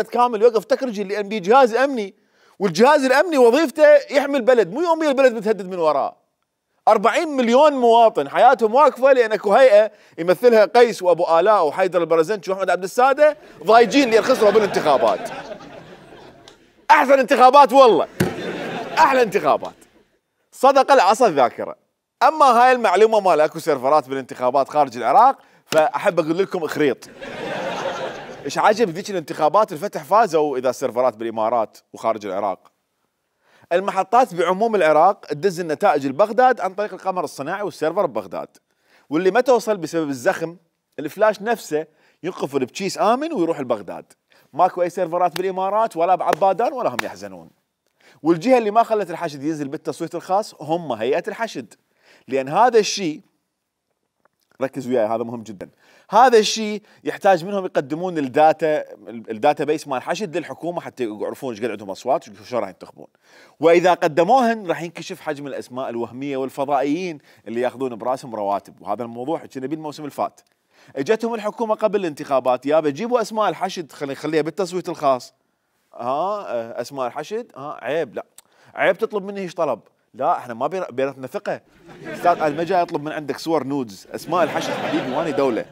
كامل يوقف تكرجي لان بيه جهاز امني، والجهاز الامني وظيفته يحمي البلد، مو يوميا البلد بتهدد من وراه. 40 مليون مواطن حياتهم واقفه لان اكو هيئه يمثلها قيس وابو الاء وحيدر البرزنجي واحمد عبد الساده ضايجين لان خسروا بالانتخابات. احسن انتخابات والله، احلى انتخابات. صدق العصا الذاكره. اما هاي المعلومه مال اكو سيرفرات بالانتخابات خارج العراق، فاحب اقول لكم اخريط. ايش عجب ذيك الانتخابات الفتح فازوا اذا السيرفرات بالامارات وخارج العراق. المحطات بعموم العراق تدز النتائج لبغداد عن طريق القمر الصناعي والسيرفر ببغداد، واللي ما توصل بسبب الزخم الفلاش نفسه ينقفل بكيس امن ويروح لبغداد. ماكو اي سيرفرات بالامارات ولا بعبادان ولا هم يحزنون. والجهه اللي ما خلت الحشد ينزل بالتصويت الخاص هم هيئه الحشد، لان هذا الشيء ركز وياي هذا مهم جدا، هذا الشيء يحتاج منهم يقدمون الداتا بيس مال الحشد للحكومه حتى يعرفون ايش قد عندهم اصوات وشو راح ينتخبون. واذا قدموهن راح ينكشف حجم الاسماء الوهميه والفضائيين اللي ياخذون براسهم رواتب، وهذا الموضوع حكينا بيه الموسم الفات. اجتهم الحكومه قبل الانتخابات يابا جيبوا اسماء الحشد خليها بالتصويت الخاص. اسماء الحشد عيب، لا عيب تطلب مني ايش طلب، لا احنا ما بيناتنا ثقه. استاذ انا ما جاي اطلب من عندك صور نودز، اسماء الحشد حبيبي واني دوله،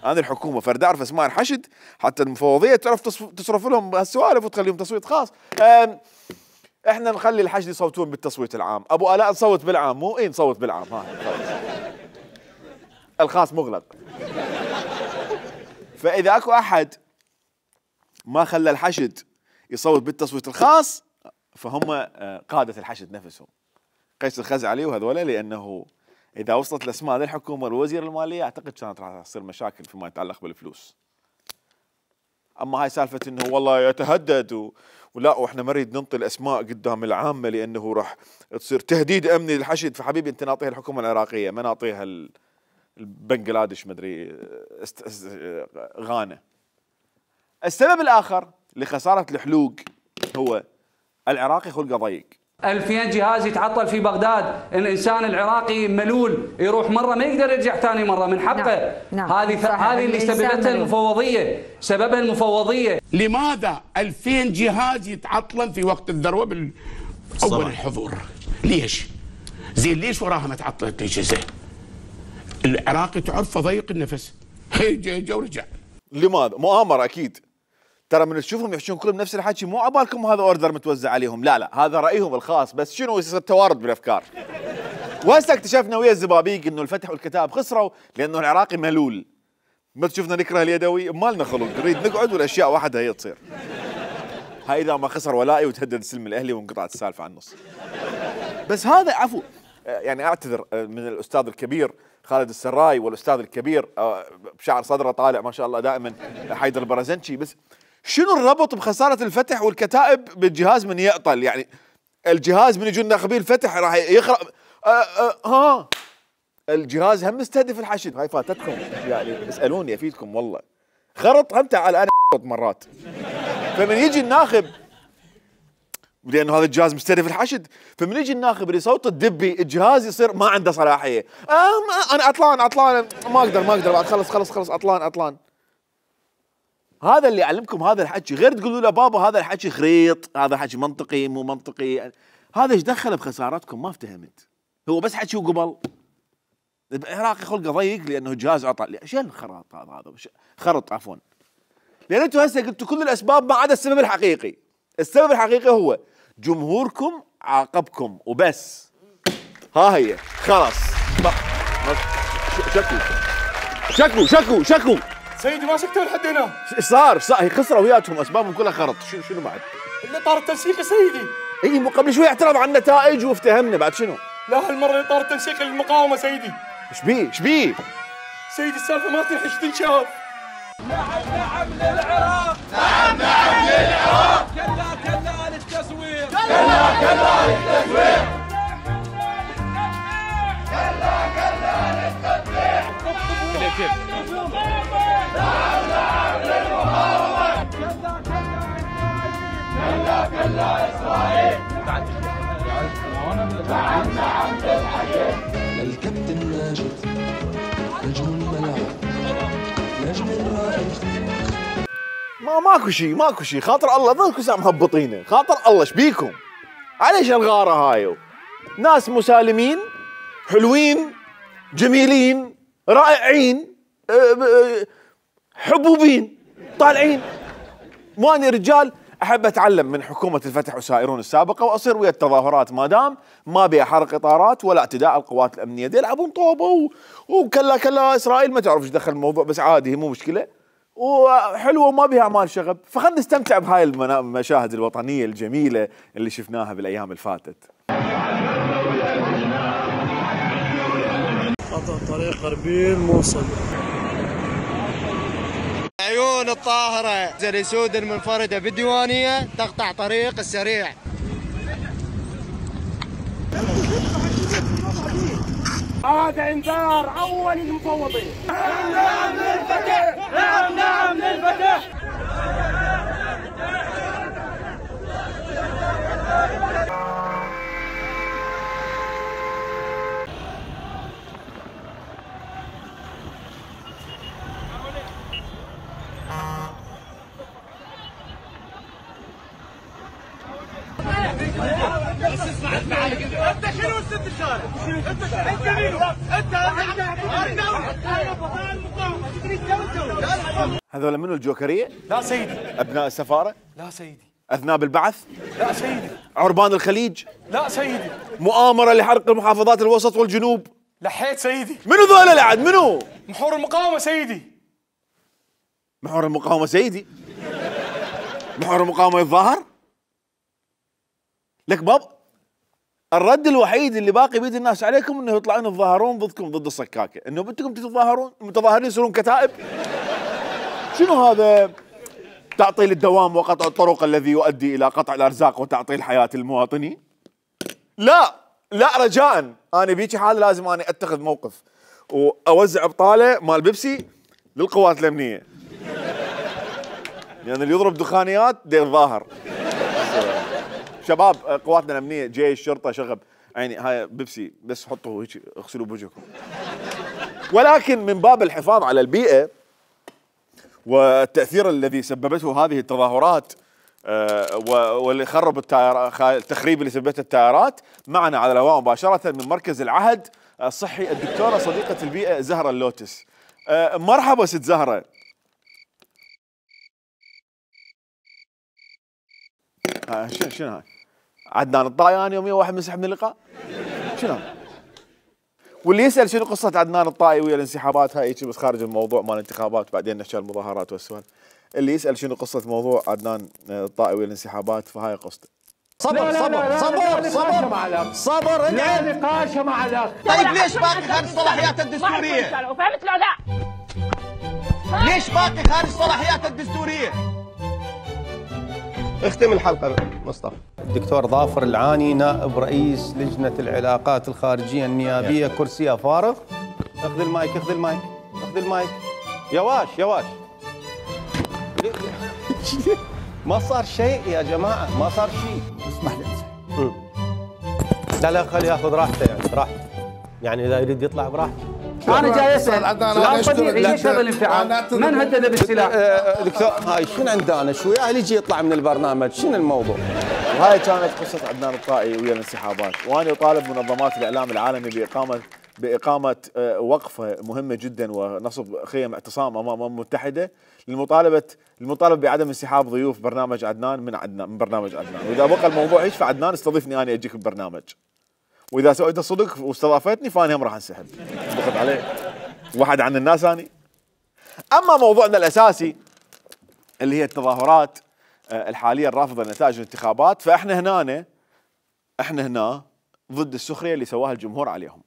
انا الحكومه فرد اعرف اسماء الحشد حتى المفوضيه تعرف تصرف لهم هالسوالف وتخليهم تصويت خاص. احنا نخلي الحشد يصوتون بالتصويت العام، ابو الاء نصوت بالعام، مو نصوت بالعام، الخاص مغلق. فاذا اكو احد ما خلى الحشد يصوت بالتصويت الخاص فهم قادة الحشد نفسهم قيس الخزعلي وهذولا، لأنه إذا وصلت الأسماء للحكومة والوزير المالية أعتقد كانت راح تصير مشاكل فيما يتعلق بالفلوس. أما هاي سالفة إنه والله يتهدد ولا وإحنا ما نريد ننطي الأسماء قدام العامة لأنه راح تصير تهديد أمني للحشد، فحبيبي أنت نعطيها الحكومة العراقية ما نعطيها البنغلاديش مدري غانا. السبب الآخر لخسارة الحلوق هو العراقي خلقه ضيق. 2000 جهاز يتعطل في بغداد، الانسان العراقي ملول يروح مره ما يقدر يرجع ثاني مره من حقه. نعم. هذه اللي سببتها المفوضيه، سببها المفوضيه. لماذا 2000 جهاز يتعطلن في وقت الذروه اول الحضور؟ ليش؟ زين ليش وراها ما تعطلت الاجهزه؟ العراقي تعرف ضيق النفس، جا ورجع. لماذا؟ مؤامره اكيد. ترى من تشوفهم يحشون كلهم نفس الحكي، مو عبالكم هذا اوردر متوزع عليهم، لا هذا رايهم الخاص، بس شنو يصير توارد بالافكار. وهسه اكتشفنا ويا الزبابيق انه الفتح والكتاب خسروا لانه العراقي ملول. ما تشوفنا نكره اليدوي، ما لنا خلق، نريد نقعد والاشياء وحدها هي تصير. هاي اذا ما خسر ولائي وتهدد السلم الاهلي وانقطعت السالفه عن النص. بس هذا عفو، يعني اعتذر من الاستاذ الكبير خالد السراي والاستاذ الكبير بشعر صدره طالع ما شاء الله دائما حيدر البرزنشي، بس شنو الربط بخساره الفتح والكتائب بالجهاز من يعطل؟ يعني الجهاز من يجون ناخبين الفتح راح يخرب. الجهاز هم مستهدف الحشد، هاي فاتتكم يعني، اسالوني افيدكم والله. خرط هم تعال انا مرات. فمن يجي الناخب لانه هذا الجهاز مستهدف الحشد، فمن يجي الناخب اللي صوت الدبي الجهاز يصير ما عنده صلاحيه. انا عطلان ما اقدر بعد خلص عطلان. هذا اللي يعلمكم هذا الحكي، غير تقولوا له بابا هذا الحكي خريط، هذا حكي منطقي مو منطقي، هذا ايش دخله بخسارتكم؟ ما افتهمت. هو بس حكي وقبل. العراقي خلقه ضيق لانه الجهاز عطل، شو الخرط هذا خرط عفوا. لان انتم هسه قلتوا كل الاسباب ما عدا السبب الحقيقي. السبب الحقيقي هو جمهوركم عاقبكم وبس. ها هي خلاص. شكو سيدي ما سكتوا لحد هنا. ايش صار؟ هي خسروا وياتهم اسبابهم كلها خرط. شنو بعد؟ اللي طار التنسيق يا سيدي. اي مو قبل شوي اعترض على النتائج وافتهمنا، بعد شنو؟ لا هالمره اللي طار التنسيق للمقاومه سيدي. ايش بيه؟ سيدي السالفه ما تنحش تنشاف. نعم للعراق، نعم للعراق، كلا للتزوير، كلا للتزوير، نعم للمقاومة، كلا إسرائيل، نعم للحياة. الكابتن ماجد نجم الملعب، نجم الرائد. ماكو شيء خاطر الله، ظلكم ساعة مهبطينه، خاطر الله ايش بيكم؟ عليش الغاره هاي؟ ناس مسالمين حلوين جميلين رائعين حبوبين طالعين. مو اني رجال احب اتعلم من حكومه الفتح وسائرون السابقه واصير ويا التظاهرات ما دام ما بيها حرق اطارات ولا اعتداء على القوات الامنيه، دي يلعبون طوبه وكلا اسرائيل ما تعرف ايش دخل الموضوع، بس عادي هي مو مشكله وحلوه وما بها اعمال شغب، فخلنا نستمتع بهاي المشاهد الوطنيه الجميله اللي شفناها بالايام اللي فاتت. قطع طريق غربيل موصل. عيون الطاهرة زلسود المنفردة بالديوانية تقطع طريق السريع. هذا انذار اول للمفوضين. نعم للفتح، نعم للفتح. انت شنو الست الشارع؟ انت مين؟ هذول منو الجوكريه؟ لا سيدي. ابناء السفاره؟ لا سيدي. اذناب البعث؟ لا سيدي. عربان الخليج؟ لا سيدي. مؤامره لحرق المحافظات الوسط والجنوب؟ لحيت سيدي. منو ذولا لعد منو؟ محور المقاومه سيدي. محور المقاومه سيدي؟ محور المقاومه يتظاهر؟ لك باب الرد الوحيد اللي باقي بيد الناس عليكم انه يطلعون يتظاهرون ضدكم ضد الصكاكه، انه بدكم تتظاهرون متظاهرين يصيرون كتائب. شنو هذا؟ تعطيل الدوام وقطع الطرق الذي يؤدي الى قطع الارزاق وتعطيل حياه المواطنين؟ لا رجاء، انا بيجي حال لازم انا اتخذ موقف واوزع بطاله مال بيبسي للقوات الامنيه. يعني اللي يضرب دخانيات دير ظاهر. شباب قواتنا الامنيه، جيش، شرطه، شغب، يعني هاي بيبسي بس حطوا هيك اغسلوا بوجهكم. ولكن من باب الحفاظ على البيئه والتاثير الذي سببته هذه التظاهرات واللي خرب التخريب اللي سببته التيارات، معنا على الهواء مباشره من مركز العهد الصحي الدكتوره صديقه البيئه زهره اللوتس. مرحبا ست زهره. شنو هاي؟ عدنان الطائي يوميا واحد منسحب من اللقاء؟ شنو؟ واللي يسال شنو قصه عدنان الطائي ويا الانسحابات هاي بس خارج الموضوع مال الانتخابات، بعدين نحكي المظاهرات والسؤال. اللي يسال شنو قصه موضوع عدنان الطائي ويا الانسحابات فهاي قصته. صبر صبر صبر صبر صبر. لا نقاش مع الاخ. طيب ليش باقي خارج صلاحياته الدستوريه؟ فهمت لو لا؟ ليش باقي خارج صلاحياته الدستوريه؟ اختم الحلقه مصطفى. الدكتور ظافر العاني نائب رئيس لجنه العلاقات الخارجيه النيابيه، كرسيه فارغ. اخذ المايك اخذ المايك اخذ المايك. يواش يواش. ما صار شيء يا جماعه، ما صار شيء. اسمح لي امزح. لا لا خليه ياخذ راحته، يعني راحته، يعني اذا يريد يطلع براحته. انا جاي اسال سؤال طبيعي، ليش هذا الانفعال؟ من هدد بالسلاح؟ دكتور هاي شنو عندنا شوي هاي يجي يطلع من البرنامج، شنو الموضوع؟ وهاي كانت قصه عدنان الطائي ويا الانسحابات، وانا اطالب منظمات الاعلام العالمي باقامه وقفه مهمه جدا ونصب خيم اعتصام امام الامم المتحده للمطالبه بعدم انسحاب ضيوف برنامج عدنان من برنامج عدنان، واذا بقى الموضوع هيك فعدنان استضيفني انا اجيك بالبرنامج. واذا سويت الصدق واستضافتني فانا هم راح انسحب. ضغط عليه واحد عن الناس اني. اما موضوعنا الاساسي اللي هي التظاهرات الحاليه الرافضه لنتائج الانتخابات، فاحنا هنا ضد السخريه اللي سواها الجمهور عليهم.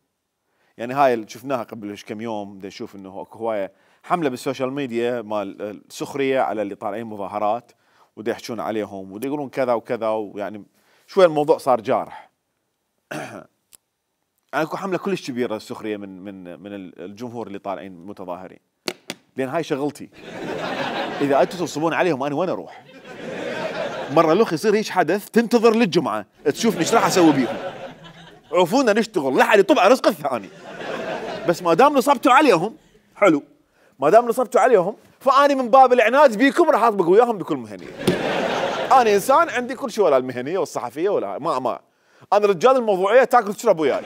يعني هاي اللي شفناها قبل كم يوم، بدنا نشوف انه اكو هوايه حمله بالسوشيال ميديا مال السخريه على اللي طالعين مظاهرات ودا يحجون عليهم ودا يقولون كذا وكذا، ويعني شوي الموضوع صار جارح. اكو حمله كلش كبيره السخريه من الجمهور اللي طالعين متظاهرين، لان هاي شغلتي. اذا انتم تنصبون عليهم انا وين اروح؟ مره الاخ يصير هيك حدث تنتظر للجمعه تشوفني ايش راح اسوي بيهم. عوفونا نشتغل، لا حد يطبع رزق الثاني. بس ما دام نصبتوا عليهم حلو، ما دام نصبتوا عليهم فاني من باب العناد بيكم راح اطبق وياهم بكل مهنيه. انا انسان عندي كل شيء، ولا المهنيه والصحفيه ولا ما انا رجال الموضوعيه تاكل وتشرب وياي.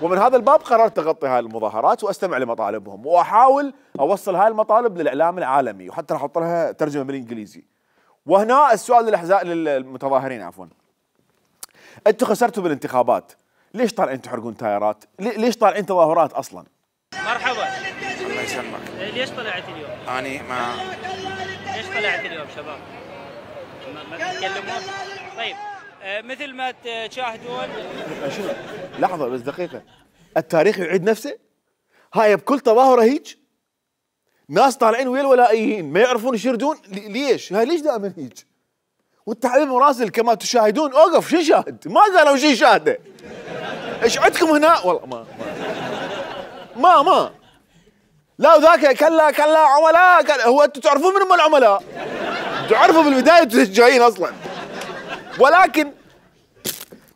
ومن هذا الباب قررت اغطي هاي المظاهرات واستمع لمطالبهم واحاول اوصل هاي المطالب للاعلام العالمي، وحتى راح احط لها ترجمه بالانجليزي. وهنا السؤال للمتظاهرين عفوا. انتم خسرتوا بالانتخابات، ليش طالعين تحرقون تايرات؟ ليش طالعين تظاهرات اصلا؟ مرحبا. الله يسلمك. ليش طلعت اليوم؟ اني ما ليش طلعت اليوم شباب؟ ما تتكلمون؟ طيب مثل ما تشاهدون. شنو؟ لحظه بس دقيقه، التاريخ يعيد نفسه؟ هاي بكل تظاهره هيك؟ ناس طالعين ويا الولائيين ما يعرفون يشردون، ليش؟ هاي ليش دائما هيك؟ والتحليل المراسل كما تشاهدون اوقف شو شاهد؟ ما قالوا شيء شاهده. ايش عندكم هنا؟ والله ما لا وذاك كلا عملاء هو انتم تعرفون من هم العملاء؟ تعرفوا بالبدايه انتم جايين اصلا. ولكن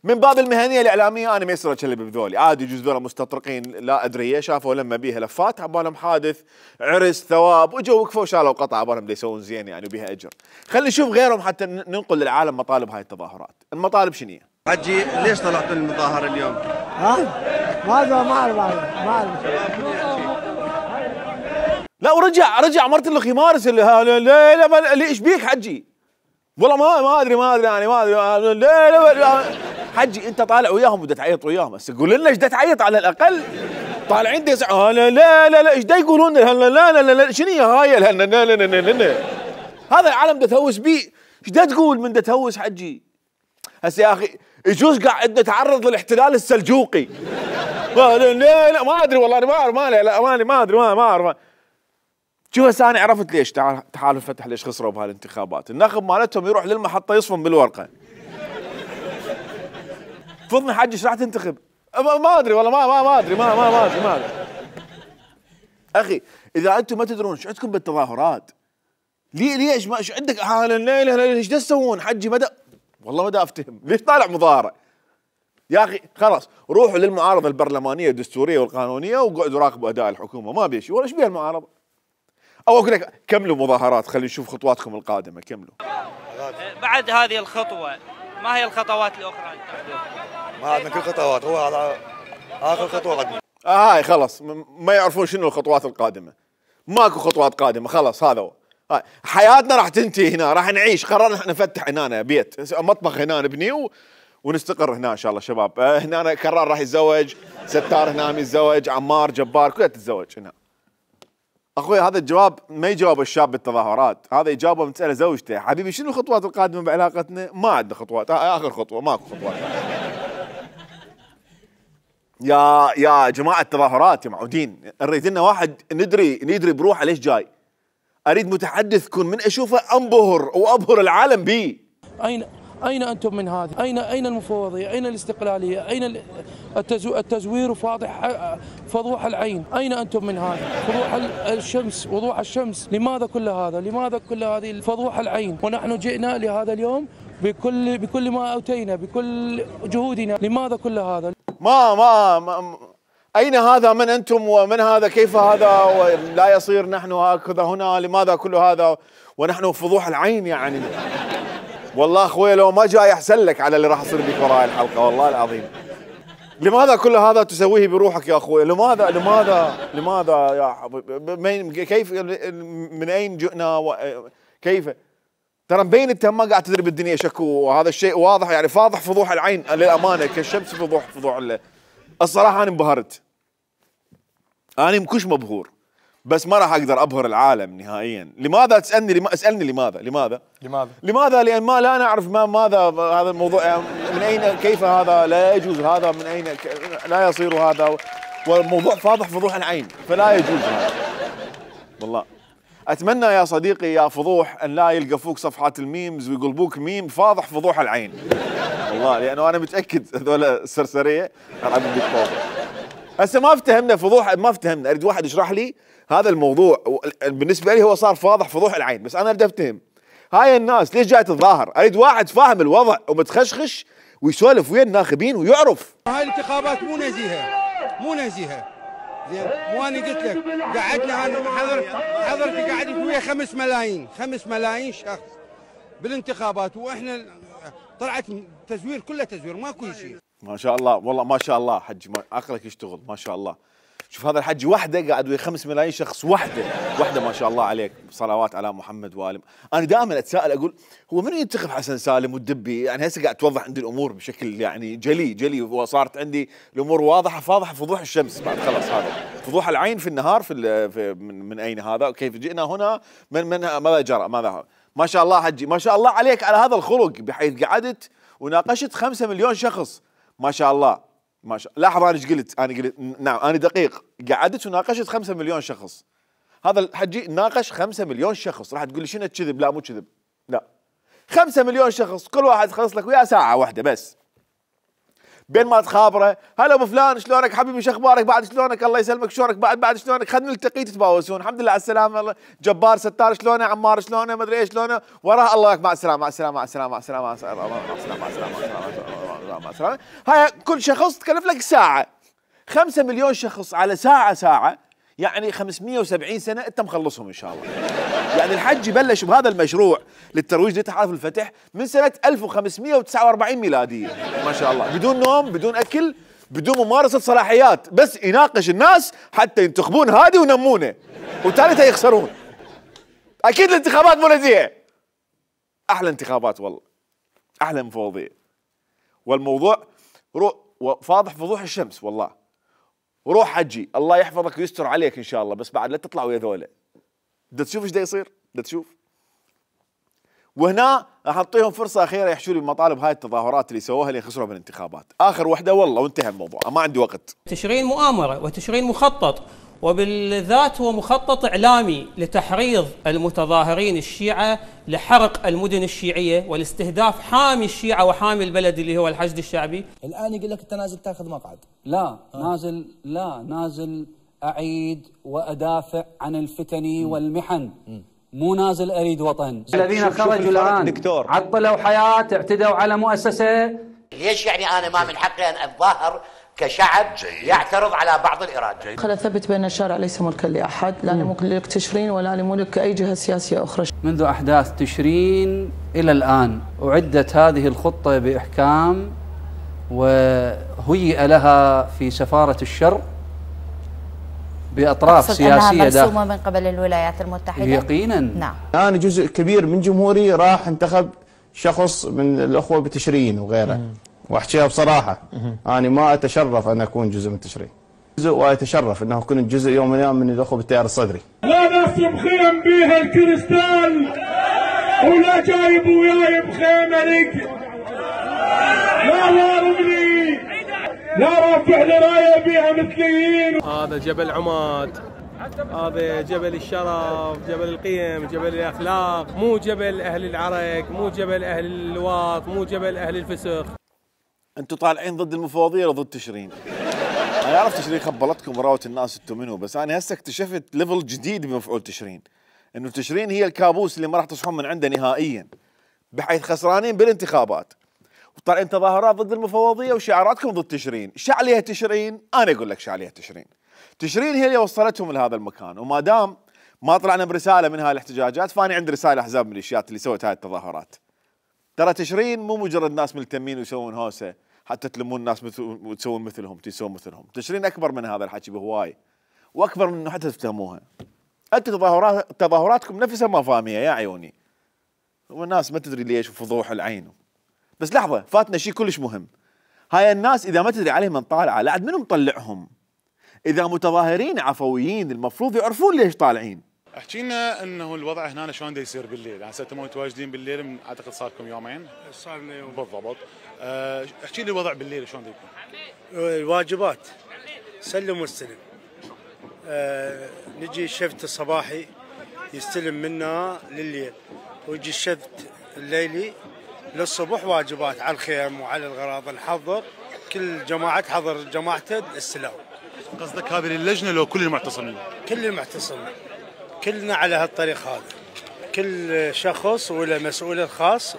من باب المهنيه الاعلاميه انا ما يصير اكلب بذولي، عادي يجوز ذولا مستطرقين لا ادري شافوا لما بيها لفات عبالهم حادث عرس ثواب وجوا وقفوا شالوا قطعه عبالهم يسوون زين يعني وبيها اجر. خلينا نشوف غيرهم حتى ننقل للعالم مطالب هاي التظاهرات. المطالب شنو هي؟ حجي ليش طلعتوا المظاهره اليوم؟ ما اعرف. لا ورجع مرت الاخ يمارس لا ايش بيك حجي؟ والله ما ادري يعني ما ادري لا حجي انت طالع وياهم ودا تعيط وياهم، بس قول لنا ايش دا تعيط على الاقل؟ طالعين لا ايش دا يقولون لا شنو هي هاي لا هذا العالم دا تهوس بيه، ايش دا تقول من دا تهوس حجي؟ هسه يا اخي يجوز قاعد نتعرض للاحتلال السلجوقي. لا ما ادري والله ما ادري ما اعرف. شوف هسه انا عرفت ليش تحالف فتح ليش خسروا بهالانتخابات، الناخب مالتهم يروح للمحطه يصفن بالورقه. فضني حجي ايش راح تنتخب؟ ما ادري والله ما ادري ما ادري. اخي اذا انتم ما تدرون ايش عندكم بالتظاهرات؟ ليش ما ايش عندك ايش تسوون حجي؟ والله ما دا افتهم ليش طالع مظاهره؟ يا اخي خلاص روحوا للمعارضه البرلمانيه الدستوريه والقانونيه وقعدوا راقبوا اداء الحكومه، ما بيشي ولا ايش بيها المعارضه؟ او اقول لك كملوا مظاهرات، خلينا نشوف خطواتكم القادمه، كملوا. بعد هذه الخطوه ما هي الخطوات الاخرى اللي تاخذوها؟ ما عندنا كل خطوات، هو هذا اخر خطوه قدمنا. هاي خلاص ما يعرفون شنو الخطوات القادمه. ماكو خطوات قادمه، خلاص هذا هو. حياتنا راح تنتهي هنا، راح نعيش، قررنا احنا نفتح هنا بيت، مطبخ هنا نبنيه ونستقر هنا ان شاء الله شباب. هنا كرار راح يتزوج، ستار هنا يتزوج، عمار، جبار، كلها تتزوج هنا. اخوي هذا الجواب ما يجاوب الشاب بالتظاهرات، هذا يجاوبه من تساله زوجته، حبيبي شنو الخطوات القادمه بعلاقتنا؟ ما عندنا خطوات، اخر خطوه ماكو خطوات. يا جماعه التظاهرات يا معودين، نريد لنا واحد ندري بروحه ليش جاي. اريد متحدث كن من اشوفه انبهر وابهر العالم به. أين أنتم من هذه؟ أين المفوضية؟ أين الاستقلالية؟ أين التزوير فضوح العين؟ أين أنتم من هذا؟ فضوح الشمس، وضوح الشمس، لماذا كل هذا؟ لماذا كل هذه فضوح العين؟ ونحن جئنا لهذا اليوم بكل ما أوتينا، بكل جهودنا، لماذا كل هذا؟ ما أين هذا؟ من أنتم ومن هذا؟ كيف هذا؟ ولا يصير نحن هكذا هنا، لماذا كل هذا ونحن فضوح العين؟ يعني والله اخوي لو ما جاي احسن لك على اللي راح يصير بك وراي الحلقه، والله العظيم. لماذا كل هذا تسويه بروحك يا اخوي؟ لماذا يا حبيبي؟ كيف من اين جئنا كيف؟ ترى مبين انت ما قاعد تدري بالدنيا شكو، وهذا الشيء واضح يعني فاضح فضوح العين للامانه كالشمس فضوح الصراحه انا انبهرت. انا مكش مبهور، بس ما راح اقدر ابهر العالم نهائيا. لماذا تسالني؟ اسالني لماذا؟ لان ما لا نعرف ماذا هذا الموضوع، من اين كيف هذا لا يجوز، هذا من اين لا يصير هذا، والموضوع فاضح فضوح العين فلا يجوز هذا. والله اتمنى يا صديقي يا فضوح ان لا يلقفوك صفحات الميمز ويقلبوك ميم فاضح فضوح العين، والله لانه انا متاكد هذول السرسريه راح بيك فاضح. هسه ما افتهمنا فضوح، ما افتهمنا، اريد واحد يشرح لي هذا الموضوع. بالنسبه لي هو صار فاضح فضوح العين، بس انا اريد افتهم هاي الناس ليش جاي تتظاهر. اريد واحد فاهم الوضع ومتخشخش ويسولف ويا الناخبين ويعرف. هاي الانتخابات مو نزيهه زين، مو انا قلت لك قعدنا حضرتك قعدت ويا 5 ملايين شخص بالانتخابات، واحنا طلعت تزوير، كله تزوير، ماكو شيء. ما شاء الله والله ما شاء الله حجي، عقلك يشتغل ما شاء الله. شوف هذا الحجي وحده قاعد ويا 5 ملايين شخص، وحده ما شاء الله عليك، صلوات على محمد وآله. انا دائما اتساءل اقول هو من ينتخب حسن سالم والدبي؟ يعني هسه قاعد توضح عندي الامور بشكل يعني جلي وصارت عندي الامور واضحه فاضحه فضوح الشمس بعد خلاص. هذا فضوح العين في النهار من اين هذا؟ كيف جئنا هنا؟ من ماذا جرى؟ ماذا؟ ما شاء الله حجي، ما شاء الله عليك على هذا الخلق، بحيث قعدت وناقشت 5 مليون شخص، ما شاء الله ما شاء الله. لاحظ انا ايش قلت؟ انا قلت نعم انا دقيق، قعدت وناقشت 5 مليون شخص. هذا الحجي ناقش 5 مليون شخص. راح تقول لي شنو كذب؟ لا مو كذب، لا 5 مليون شخص كل واحد خلص لك وياه ساعه واحده بس، بين ما تخابره هلا ابو فلان شلونك حبيبي شو اخبارك بعد شلونك الله يسلمك شلونك بعد شلونك خلينا نلتقي تتباوسون الحمد لله على السلامه الله جبار ستار شلونه عمار شلونه ما ادري ايش شلونه وراه الله مع السلامه مع السلامه مع السلامه مع السلامه مع السلامه مع السلامه مع السلامه. هاي كل شخص تكلف لك ساعه. 5 مليون شخص على ساعه يعني 570 سنه انت مخلصهم ان شاء الله. يعني الحج بلش بهذا المشروع للترويج لتحالف الفتح من سنه 1549 ميلاديه ما شاء الله، بدون نوم بدون اكل بدون ممارسه صلاحيات، بس يناقش الناس حتى ينتخبون هادي ونمونه وثالثها يخسرون. اكيد الانتخابات مو نزيهه، احلى انتخابات والله، احلى مفوضيه، والموضوع فاضح فضوح الشمس والله. وروح حجي الله يحفظك ويستر عليك ان شاء الله، بس بعد لا تطلع ويا ذولا. بدك تشوف ايش دا يصير، بدك تشوف. وهنا راح اعطيهم فرصه اخيره يحشوا لي بمطالب هاي التظاهرات اللي سووها اللي خسروا بالانتخابات، اخر وحده والله وانتهى الموضوع، ما عندي وقت. تشرين مؤامره وتشرين مخطط، وبالذات هو مخطط إعلامي لتحريض المتظاهرين الشيعة لحرق المدن الشيعية والاستهداف حامي الشيعة وحامي البلد اللي هو الحشد الشعبي. الآن يقول لك أنت نازل تاخذ مقعد. لا نازل أعيد وأدافع عن الفتن والمحن. مو نازل اريد وطن. الذين خرجوا الان دكتور عطلوا حياه، اعتدوا على مؤسسه. ليش يعني انا ما من حقي ان اتظاهر كشعب يعترض على بعض الإرادة؟ خل أثبت بأن الشارع ليس ملكا لأحد، لا لملك تشرين ولا لملك أي جهة سياسية أخرى. منذ أحداث تشرين إلى الآن أعدت هذه الخطة بإحكام وهيئ لها في سفارة الشرق بأطراف سياسية مرسومة من قبل الولايات المتحدة. يقينا نعم. أنا جزء كبير من جمهوري راح انتخب شخص من الأخوة بتشرين وغيره، واحكيها بصراحه انا ما اتشرف ان اكون جزء من تشرين، جزء واتشرف انه كنت جزء يوم من الايام من الاخوه بالتيار الصدري. لا ناس مخيم بيها الكريستال ولا جايب وياي بخيمه لك، لا ضاربني لا رافع لي رايه بيها مثليين. هذا جبل عماد، هذا جبل الشرف، جبل القيم، جبل الاخلاق، مو جبل اهل العرق، مو جبل اهل اللواط، مو جبل اهل الفسخ. انتم طالعين ضد المفوضيه ولا ضد تشرين؟ انا اعرف تشرين خبلتكم وراوت الناس انتم منو، بس انا هسه اكتشفت ليفل جديد بمفعول تشرين، انه تشرين هي الكابوس اللي ما راح تصحون من عنده نهائيا، بحيث خسرانين بالانتخابات وطالعين تظاهرات ضد المفوضيه وشعاراتكم ضد تشرين. ايش عليها تشرين؟ انا اقول لك ايش عليها تشرين. تشرين هي اللي وصلتهم لهذا المكان، وما دام ما طلعنا برساله من هاي الاحتجاجات فاني عندي رساله احزاب الميليشيات اللي سوت هاي التظاهرات. ترى تشرين مو مجرد ناس ملتمين ويسوون هوسه حتى تلمون الناس وتسوون مثلهم تسوون مثلهم، تشرين اكبر من هذا الحكي بهواي، واكبر من انه حتى تفتهموها. انتم تظاهراتكم نفسها ما فاهميها يا عيوني، والناس ما تدري ليش وفضوح العين. بس لحظه، فاتنا شيء كلش مهم. هاي الناس اذا ما تدري عليهم من طالعه، لا عاد منو مطلعهم؟ اذا متظاهرين عفويين المفروض يعرفون ليش طالعين. احكي لنا انه الوضع هنا شلون دا يصير بالليل، هسه انتم متواجدين بالليل من اعتقد صار لكم يومين. صار لنا يوم بالضبط. احكي لي الوضع بالليل شلون دا يكون؟ الواجبات سلم واستلم. نجي الشفت الصباحي يستلم منا لليل، ويجي الشفت الليلي للصبح واجبات على الخيم وعلى الغراض نحضر، كل جماعة تحضر جماعته السلام. قصدك هذه اللجنة لو كل المعتصمين؟ كل المعتصمين كلنا على هالطريق هذا، كل شخص وله مسؤول الخاص،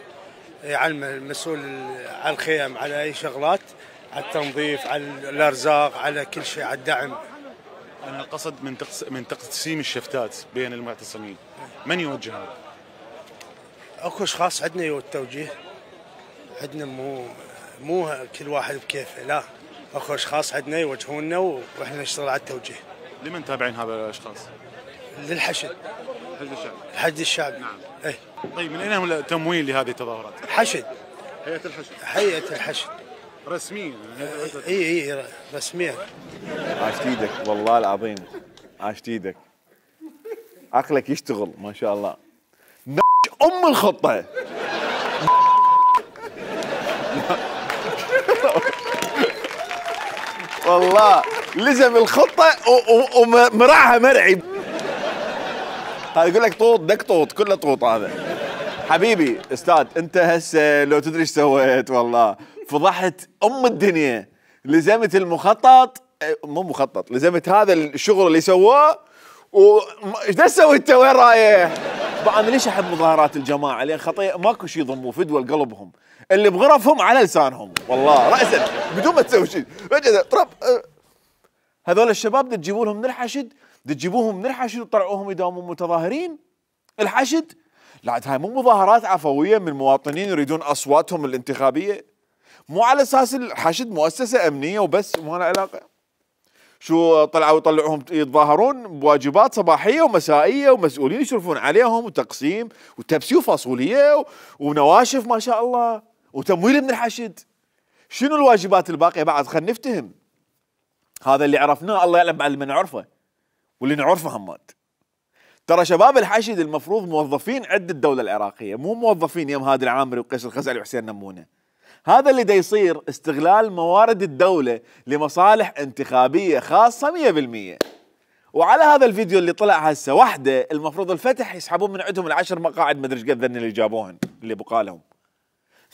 يعني المسؤول على الخيم، على اي شغلات، على التنظيف، على الارزاق، على كل شيء، على الدعم. انا القصد من تقسيم الشفتات بين المعتصمين، من يوجه هذا؟ اكو اشخاص عندنا يو التوجيه، عندنا مو كل واحد بكيفه، لا اكو اشخاص عندنا يوجهونا واحنا نشتغل على التوجيه. لمن تابعين هذا الاشخاص؟ للحشد. حشد الشعب. حشد الشعب. نعم. اي. طيب من اين هم التمويل لهذه التظاهرات؟ حشد. هيئة الحشد. هيئة الحشد. رسميا؟ اي رسميا. عاشت ايدك والله العظيم، عاشت ايدك. عقلك يشتغل ما شاء الله. ام الخطة. والله لزم الخطة ومرعها مرعي. هذا يقول لك طوط دك طوط، كله طوط هذا. حبيبي استاذ انت هسه لو تدري ايش سويت، والله فضحت ام الدنيا. لزمت المخطط، مو مخطط، لزمت هذا الشغل اللي سواه. وايش تسوي انت؟ وين رايح؟ انا ليش احب مظاهرات الجماعه؟ لان خطيه ماكو شيء يضموا فدوى لقلبهم، اللي بغرفهم على لسانهم، والله راسا بدون ما تسوي شيء. طرب هذول الشباب تجيبوا لهم من الحشد، تجيبوهم من الحشد وتطلعوهم يداومون متظاهرين. الحشد لا، هاي مو مظاهرات عفويه من مواطنين يريدون اصواتهم الانتخابيه، مو على اساس الحشد مؤسسه امنيه وبس، مو له علاقه. شو طلعوا يطلعوهم يتظاهرون بواجبات صباحيه ومسائيه ومسؤولين يشرفون عليهم وتقسيم وتبسي وفاصوليه ونواشف ما شاء الله وتمويل من الحشد. شنو الواجبات الباقيه بعد؟ خلينا نفتهم. هذا اللي عرفناه، الله يعلم بعد اللي ما نعرفه واللي نعرفه همات. ترى شباب الحشد المفروض موظفين عند الدوله العراقيه، مو موظفين يم هادي العامري وقيس الخزعلي وحسين نمونه. هذا اللي دا يصير استغلال موارد الدولة لمصالح انتخابية خاصة 100%. وعلى هذا الفيديو اللي طلع هسه وحده المفروض الفتح يسحبون من عندهم ال10 مقاعد، ما ادري ايش قد اللي جابوهن اللي بقالهم.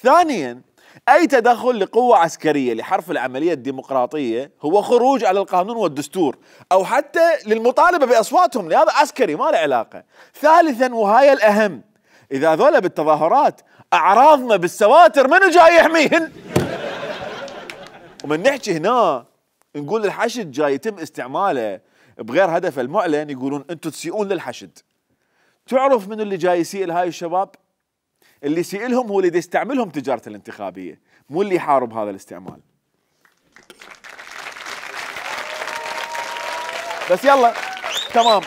ثانيا أي تدخل لقوة عسكرية لحرف العملية الديمقراطية هو خروج على القانون والدستور، أو حتى للمطالبة بأصواتهم، لهذا عسكري ما له علاقة. ثالثا وهاي الأهم، إذا ذولا بالتظاهرات أعراضنا بالسواتر منو جاي يحميهن؟ ومن نحكي هنا نقول الحشد جاي يتم استعماله بغير هدف المعلن، يقولون أنتم تسيئون للحشد. تعرف من اللي جاي يسيء لهاي الشباب؟ اللي يسيء لهم هو اللي يستعملهم تجارة الانتخابية، مو اللي يحارب هذا الاستعمال. بس يلا تمام،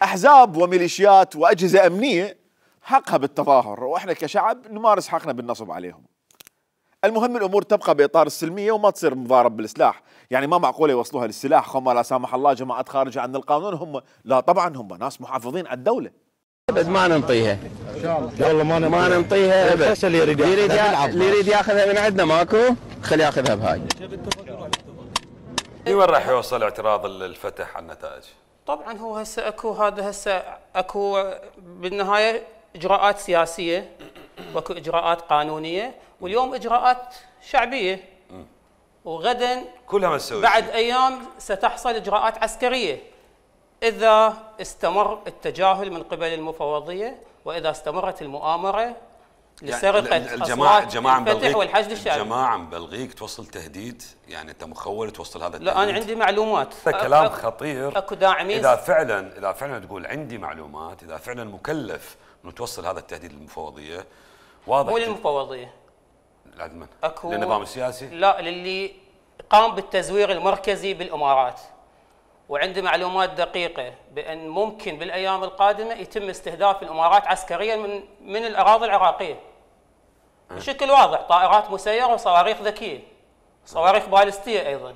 أحزاب وميليشيات وأجهزة أمنية حقها بالتظاهر، وإحنا كشعب نمارس حقنا بالنصب عليهم. المهم الأمور تبقى بإطار السلمية وما تصير مضارب بالسلاح، يعني ما معقولة يوصلوها للسلاح. هم لا سامح الله جماعات خارجة عن القانون، هم لا طبعا هم ناس محافظين على الدولة. ابد ما ننطيها ان شاء الله، والله ما ننطيها ابد. اللي يريد ياخذها من عندنا ماكو، خليه ياخذها بهاي. وين راح يوصل اعتراض الفتح على النتائج؟ طبعا هو هسه اكو بالنهايه اجراءات سياسيه واكو اجراءات قانونيه، واليوم اجراءات شعبيه، وغدا كلها مسويه بعد ايام ستحصل اجراءات عسكريه اذا استمر التجاهل من قبل المفوضيه، واذا استمرت المؤامره لسرقه اصوات الفتح والحشد الشعبي. جماعه مبلغيك توصل تهديد؟ يعني انت مخول توصل هذا التهديد؟ لا انا عندي معلومات. كلام خطير. اكو داعمين. اذا فعلا تقول عندي معلومات، اذا فعلا مكلف انه توصل هذا التهديد للمفوضيه، واضح مو للمفوضيه، لمن؟ اكو للنظام السياسي؟ لا، للي قام بالتزوير المركزي بالامارات. وعندي معلومات دقيقة بأن ممكن بالأيام القادمة يتم استهداف الإمارات عسكريا من الأراضي العراقية بشكل واضح، طائرات مسيرة وصواريخ ذكية، صواريخ باليستية أيضا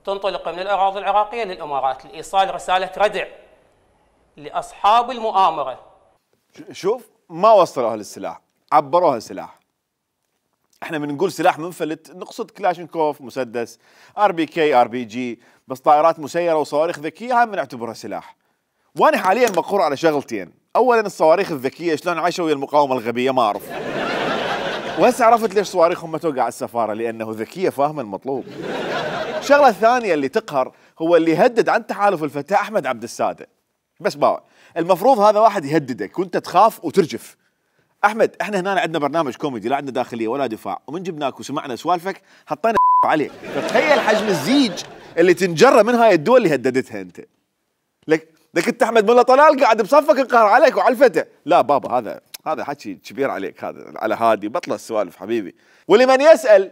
تنطلق من الأراضي العراقية للإمارات لإيصال رسالة ردع لأصحاب المؤامرة. شوف، ما وصلوها للسلاح، عبروها سلاح. احنا من نقول سلاح منفلت نقصد كلاشينكوف، مسدس، RPK RPG، بس طائرات مسيرة وصواريخ ذكية هاي بنعتبرها سلاح. وانا حاليا مقهور على شغلتين، اولا الصواريخ الذكية شلون عايشة ويا المقاومة الغبية ما اعرف. وهسه عرفت ليش صواريخهم ما توقع على السفارة، لانه ذكية فاهمة المطلوب. الشغلة الثانية اللي تقهر هو اللي يهدد عن تحالف الفتاة أحمد عبد السادة. بس باوع، المفروض هذا واحد يهددك وانت تخاف وترجف. احمد، احنا هنا عندنا برنامج كوميدي، لا عندنا داخليه ولا دفاع، ومن جبناك وسمعنا سوالفك حطينا عليك، فتخيل حجم الزيج اللي تنجره من هاي الدول اللي هددتها انت. لك انت احمد ملا طلال قاعد بصفك انقهر عليك وعلى الفتى. لا بابا، هذا حكي كبير عليك، هذا على هادي، بطل السوالف حبيبي. ولمن يسأل،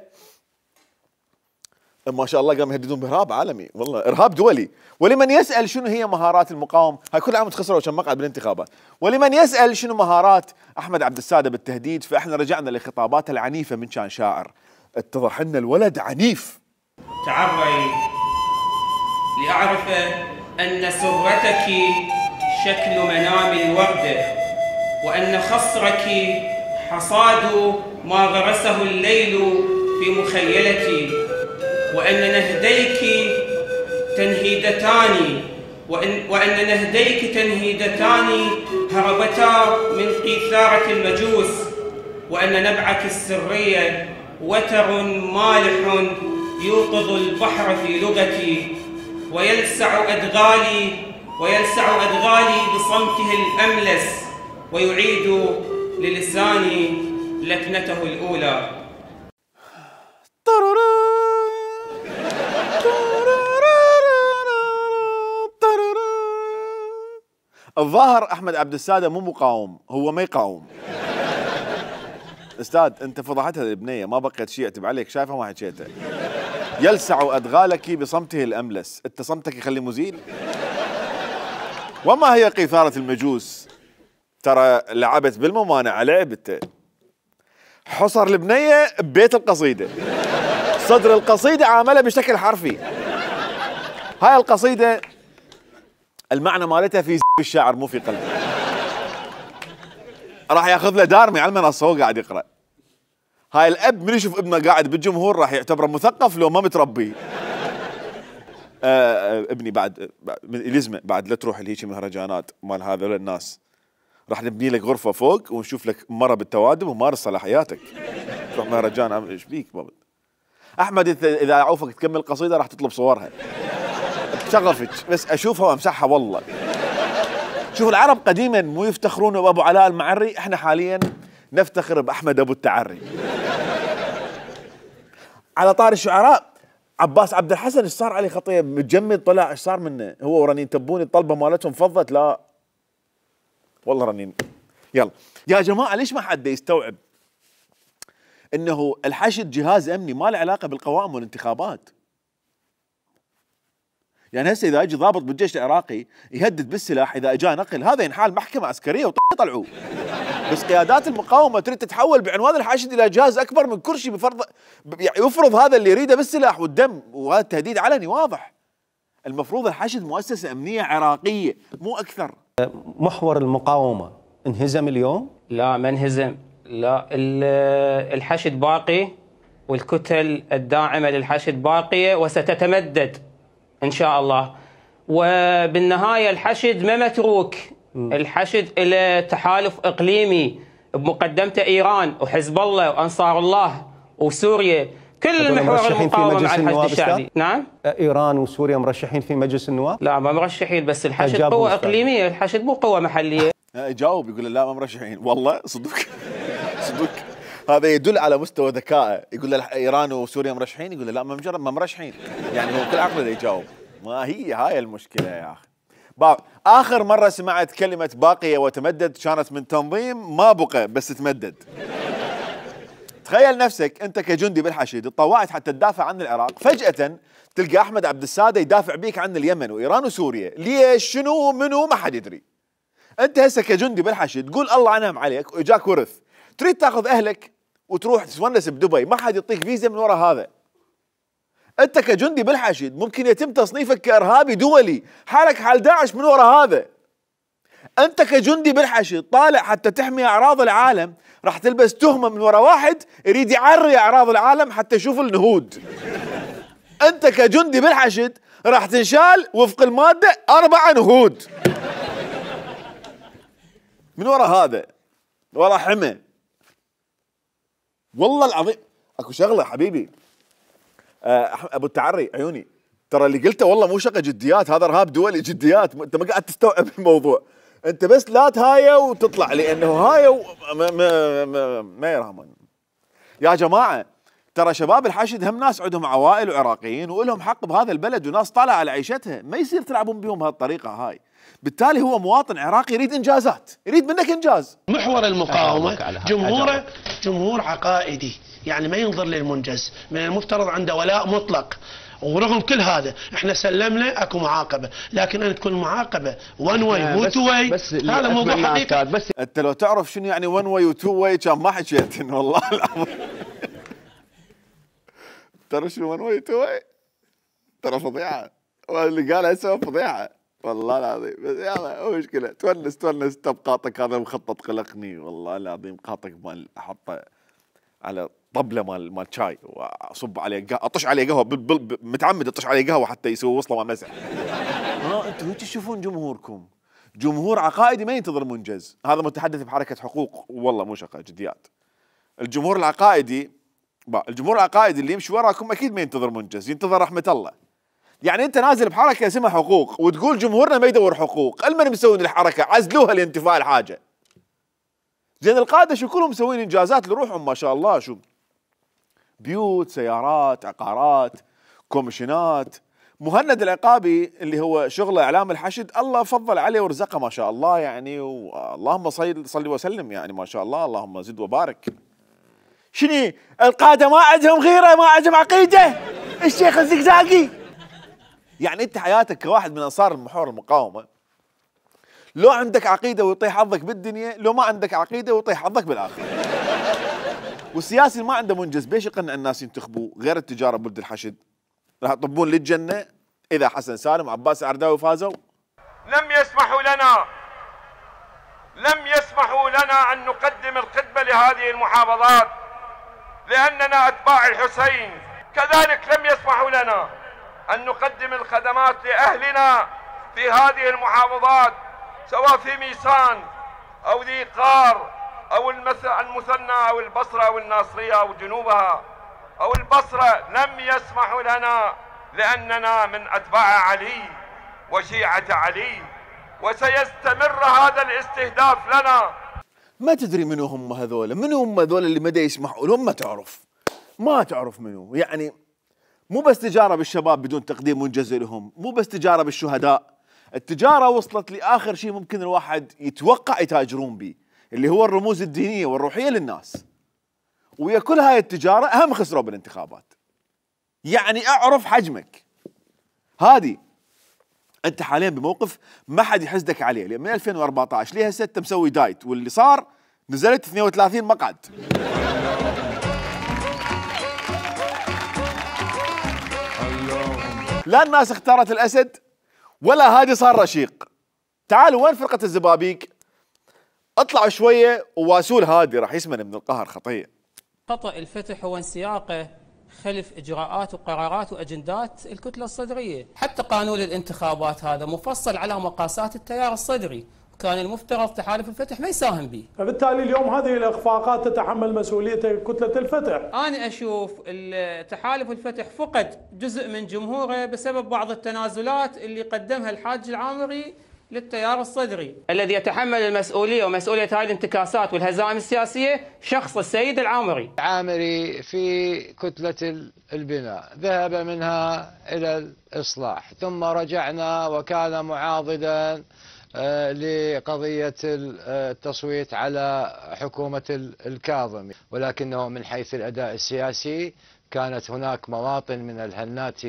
ما شاء الله قام يهددون بإرهاب عالمي، والله إرهاب دولي. ولمن يسأل شنو هي مهارات المقاومة، هاي كل عام تخسروا كم مقعد بالانتخابات. ولمن يسأل شنو مهارات أحمد عبد السادة بالتهديد، فإحنا رجعنا لخطاباته العنيفة من كان شاعر. اتضح لنا الولد عنيف. تعري لأعرف أن سرتك شكل منام الوردة، وأن خصرك حصاد ما غرسه الليل في مخيلتي، وأن نهديك تنهيدتان وأن نهديك تنهيدتان هربتا من قيثارة المجوس، وأن نبعك السرية وتر مالح يوقظ البحر في لغتي، ويلسع أدغالي بصمته الأملس، ويعيد للساني لكنته الأولى. الظاهر أحمد عبد السادة مو مقاوم، هو ما يقاوم. استاذ انت فضحتها البنيه، ما بقيت شيء اكتب عليك، شايفها ما حكيتها. يلسع ادغالك بصمته الاملس، انت صمتك يخلي مزيل. وما هي قيثارة المجوس؟ ترى لعبت بالممانعة لعبته. حصر البنية ببيت القصيدة، صدر القصيدة عاملها بشكل حرفي. هاي القصيدة المعنى مالتها في الشاعر مو في قلبه. راح ياخذ له دارمي على المنصة وهو قاعد يقرأ. هاي الأب من يشوف ابنه قاعد بالجمهور راح يعتبره مثقف لو ما متربي. ابني بعد يلزمه بعد لا تروح لهيك مهرجانات مال هذول الناس، راح نبني لك غرفة فوق ونشوف لك مرة بالتوادم ومارس صلاحياتك. تروح مهرجان ايش بيك بابا؟ احمد اذا اعوفك تكمل قصيده راح تطلب صورها شغفك بس اشوفها وامسحها والله. شوف العرب قديما مو يفتخرون بابو علاء المعري، احنا حاليا نفتخر باحمد ابو التعري. على طار الشعراء عباس عبد الحسن ايش صار عليه خطيه متجمد طلع، ايش صار منه؟ هو ورنين تبوني الطلبه مالتهم فضت. لا والله رنين. يلا يا جماعه ليش ما حد يستوعب انه الحشد جهاز امني ما له علاقه بالقوائم والانتخابات؟ يعني هسه اذا اجى ضابط بالجيش العراقي يهدد بالسلاح اذا اجى نقل هذا ينحال محكمه عسكريه وطلعوه. بس قيادات المقاومه تريد تتحول بعنوان الحشد الى جهاز اكبر من كرسي بفرض يعني يفرض هذا اللي يريده بالسلاح والدم، وهذا تهديد علني واضح. المفروض الحشد مؤسسه امنيه عراقيه مو اكثر. محور المقاومه انهزم اليوم؟ لا ما انهزم، لا الحشد باقي والكتل الداعمه للحشد باقيه وستتمدد ان شاء الله. وبالنهايه الحشد ما متروك، الحشد له تحالف اقليمي بمقدمته ايران وحزب الله وانصار الله وسوريا، كل محور المقاومه مع الحشد الشعبي. نعم؟ ايران وسوريا مرشحين في مجلس النواب؟ لا ما مرشحين، بس الحشد قوه اقليميه، الحشد مو قوه محليه. يجاوب يقول لا ما مرشحين، والله صدق صدق. هذا يدل على مستوى ذكائه. يقول له ايران وسوريا مرشحين، يقول له لا ما مرشحين. يعني هو كل عقله يجاوب. ما هي هاي المشكله يا اخي. اخر مره سمعت كلمه باقيه وتمدد كانت من تنظيم ما بقى بس تمدد. تخيل نفسك انت كجندي بالحشد تطوعت حتى تدافع عن العراق، فجاه تلقى احمد عبد الساده يدافع بيك عن اليمن وايران وسوريا. ليش؟ شنو؟ منو؟ ما حد يدري. انت هسه كجندي بالحشد تقول الله عنهم عليك واجاك ورث، تريد تاخذ اهلك وتروح تتونس بدبي، ما حد يعطيك فيزا من وراء هذا. انت كجندي بالحشد ممكن يتم تصنيفك كارهابي دولي، حالك حال داعش من وراء هذا. انت كجندي بالحشد طالع حتى تحمي اعراض العالم، راح تلبس تهمه من وراء واحد يريد يعري اعراض العالم حتى يشوف النهود. انت كجندي بالحشد راح تنشال وفق الماده 4 نهود من وراء هذا، وراء حمى. والله العظيم اكو شغله حبيبي ابو التعري عيوني، ترى اللي قلته والله مو شقه جديات، هذا ارهاب دولي جديات. انت ما قاعد تستوعب الموضوع، انت بس لا تهايا وتطلع، لانه هايا ما يرحمون. يا جماعه ترى شباب الحشد هم ناس عندهم عوائل وعراقيين ولهم حق بهذا البلد وناس طالعه على عيشتها، ما يصير تلعبون بهم بهالطريقه هاي. بالتالي هو مواطن عراقي يريد انجازات، يريد منك انجاز. محور المقاومه جمهوره جمهور عقائدي، يعني ما ينظر للمنجز، من المفترض عنده ولاء مطلق. ورغم كل هذا احنا سلمنا اكو معاقبه، لكن ان تكون معاقبه ون واي مو تو واي هذا موضوع حقيقي. بس انت لو تعرف شنو يعني ون واي وتو واي كان ما حكيت والله العظيم. ترى شنو ون واي وتو واي؟ ترى فضيحه، واللي قالها هسه فضيحه والله العظيم. بس يلا مو مشكله، تونس تبقاطك هذا مخطط قلقني والله العظيم. قاطك مال احطه على طبله مال شاي واصب عليه اطش عليه قهوه متعمد اطش عليه قهوه حتى يسوي وصله ما مسح. انتم هيك تشوفون جمهوركم، جمهور عقائدي ما ينتظر منجز. هذا متحدث بحركه حقوق والله مو شقه جديات. الجمهور العقائدي اللي يمشي وراكم اكيد ما ينتظر منجز، ينتظر رحمه الله. يعني انت نازل بحركه اسمها حقوق وتقول جمهورنا ما يدور حقوق، المن مسوين الحركه عزلوها لانتفاء الحاجه. زين القاده شو كلهم مسوين انجازات لروحهم ما شاء الله، شو بيوت، سيارات، عقارات، كوميشنات. مهند العقابي اللي هو شغله اعلام الحشد الله فضل عليه ورزقه ما شاء الله، يعني اللهم صل وسلم، يعني ما شاء الله اللهم زد وبارك. شنو القاده ما عندهم غيره، ما عندهم عقيده؟ الشيخ الزقزاقي. يعني انت حياتك كواحد من انصار محور المقاومه، لو عندك عقيده ويطيح حظك بالدنيا، لو ما عندك عقيده ويطيح حظك بالاخره. والسياسي اللي ما عنده منجز بيش يقنع الناس ينتخبوه غير التجاره بولد الحشد؟ راح يطبون للجنه اذا حسن سالم وعباس العرداوي فازوا. لم يسمحوا لنا ان نقدم الخدمه لهذه المحافظات لاننا اتباع الحسين. كذلك لم يسمحوا لنا ان نقدم الخدمات لاهلنا في هذه المحافظات، سواء في ميسان او ذي قار أو المثنى أو البصرة أو الناصرية أو جنوبها أو البصرة لم يسمحوا لنا، لأننا من أتباع علي وشيعة علي، وسيستمر هذا الاستهداف لنا. ما تدري منو هم هذول، منو هم هذول اللي ما يسمحوا لهم؟ ما تعرف منو. يعني مو بس تجارة بالشباب بدون تقديم منجز لهم، مو بس تجارة بالشهداء، التجارة وصلت لآخر شيء ممكن الواحد يتوقع يتاجرون به، اللي هو الرموز الدينية والروحية للناس. ويا كل هاي التجارة هم خسروا بالانتخابات. يعني اعرف حجمك. هادي انت حاليا بموقف ما حد يحسدك عليه، لان من 2014 ليه هسه انت مسوي دايت، واللي صار نزلت 32 مقعد. لا الناس اختارت الاسد ولا هادي صار رشيق. تعالوا وين فرقة الزبابيك؟ اطلعوا شوية وواسول هادي راح يسمن من القهر خطية. خطأ الفتح هو انسياقه خلف إجراءات وقرارات وأجندات الكتلة الصدرية. حتى قانون الانتخابات هذا مفصل على مقاسات التيار الصدري، كان المفترض تحالف الفتح ما يساهم به. فبالتالي اليوم هذه الإخفاقات تتحمل مسؤولية كتلة الفتح. أنا أشوف تحالف الفتح فقد جزء من جمهوره بسبب بعض التنازلات اللي قدمها الحاج العامري للتيار الصدري. الذي يتحمل المسؤولية ومسؤولية هذه الانتكاسات والهزائم السياسية شخص السيد العامري. العامري في كتلة البناء ذهب منها إلى الإصلاح، ثم رجعنا وكان معاضدا لقضية التصويت على حكومة الكاظمي، ولكنه من حيث الأداء السياسي كانت هناك مواطن من الهنات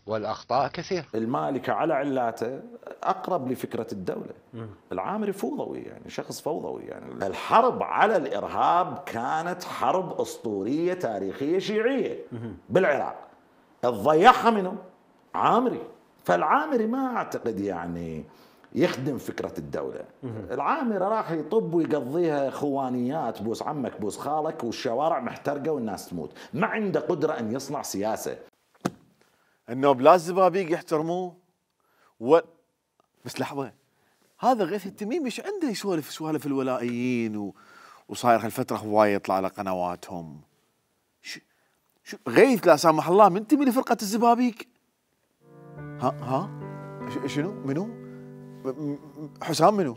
والأخطاء كثير. المالكة على علاته أقرب لفكرة الدولة. العامري فوضوي، يعني شخص فوضوي. يعني الحرب على الإرهاب كانت حرب أسطورية تاريخية شيعية بالعراق، الضيعها منه عامري. فالعامري ما أعتقد يعني يخدم فكرة الدولة. العامري راح يطب ويقضيها خوانيات، بوس عمك بوس خالك، والشوارع محترقة والناس تموت. ما عنده قدرة أن يصنع سياسة. النوب لا الزبابيك يحترموه بس لحظة، هذا غيث التميمي ايش عنده يسولف سوالف الولائيين وصاير هالفترة هواية يطلع على قنواتهم. غيث لا سامح الله منتمي لفرقة الزبابيك. ها شنو منو؟ حسام منو؟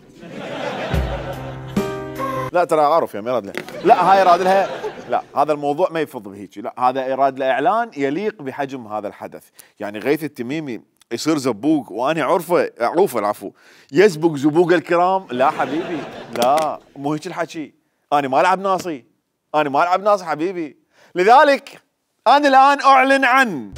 لا ترى اعرف يا يراد لها. لا هاي يراد لها. لا هذا الموضوع ما يفض بهيك. لا هذا يراد له اعلان يليق بحجم هذا الحدث. يعني غيث التميمي يصير زبوق وانا اعرفه العفو يزبق زبوق الكرام. لا حبيبي لا مو هيك الحكي. انا ما العب ناصي، انا ما العب ناصي حبيبي. لذلك انا الان اعلن عن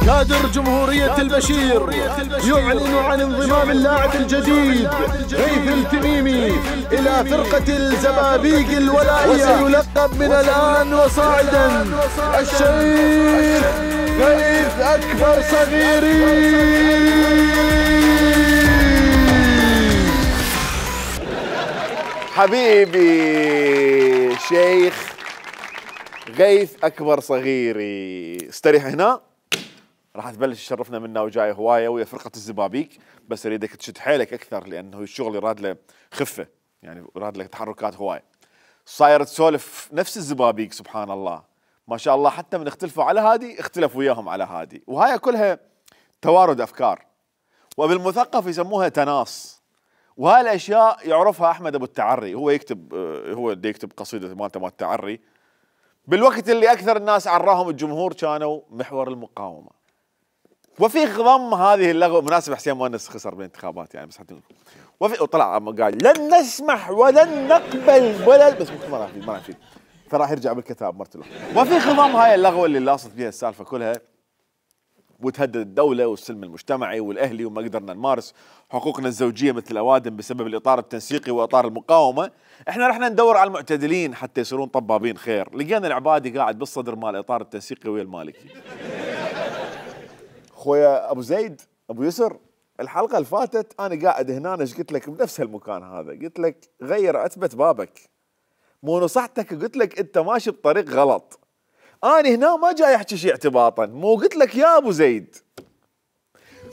كادر جمهورية البشير يعلن عن انضمام اللاعب الجديد غيث التميمي إلى فرقة الزبابيك الولائية، وسيلقب من الآن وصاعدا الشيخ غيث أكبر صغيري. حبيبي شيخ غيث أكبر صغيري، استريح هنا راح تبلش تشرفنا منا وجاي هوايه ويا فرقه الزبابيك. بس اريدك تشد حيلك اكثر لانه الشغل يراد له خفه، يعني يراد له تحركات هوايه. صاير تسولف نفس الزبابيك سبحان الله ما شاء الله، حتى من اختلفوا على هادي اختلف وياهم على هادي، وهاي كلها توارد افكار وبالمثقف يسموها تناص. وهاي الاشياء يعرفها احمد ابو التعري، هو يكتب قصيده مالته مال التعري بالوقت اللي اكثر الناس عراهم الجمهور كانوا محور المقاومه. وفي خضم هذه اللغوه مناسبه حسين مؤنس خسر بالانتخابات يعني، بس حتى وفي وطلع قال لن نسمح ولن نقبل بس ما راح يفيد فراح يرجع بالكتاب مرته. وفي خضم هاي اللغوه اللي لاصت فيها السالفه كلها وتهدد الدوله والسلم المجتمعي والاهلي وما قدرنا نمارس حقوقنا الزوجيه مثل الاوادم بسبب الاطار التنسيقي واطار المقاومه. احنا رحنا ندور على المعتدلين حتى يصيرون طبابين خير، لقينا العبادي قاعد بالصدر مال الاطار التنسيقي ويا المالكي. خويا ابو زيد ابو يسر الحلقه اللي فاتت انا قاعد هنا ايش قلت لك بنفس المكان هذا، قلت لك غير عتبه بابك، مو نصحتك قلت لك انت ماشي بطريق غلط. انا هنا ما جاي احكي شيء اعتباطا، مو قلت لك يا ابو زيد،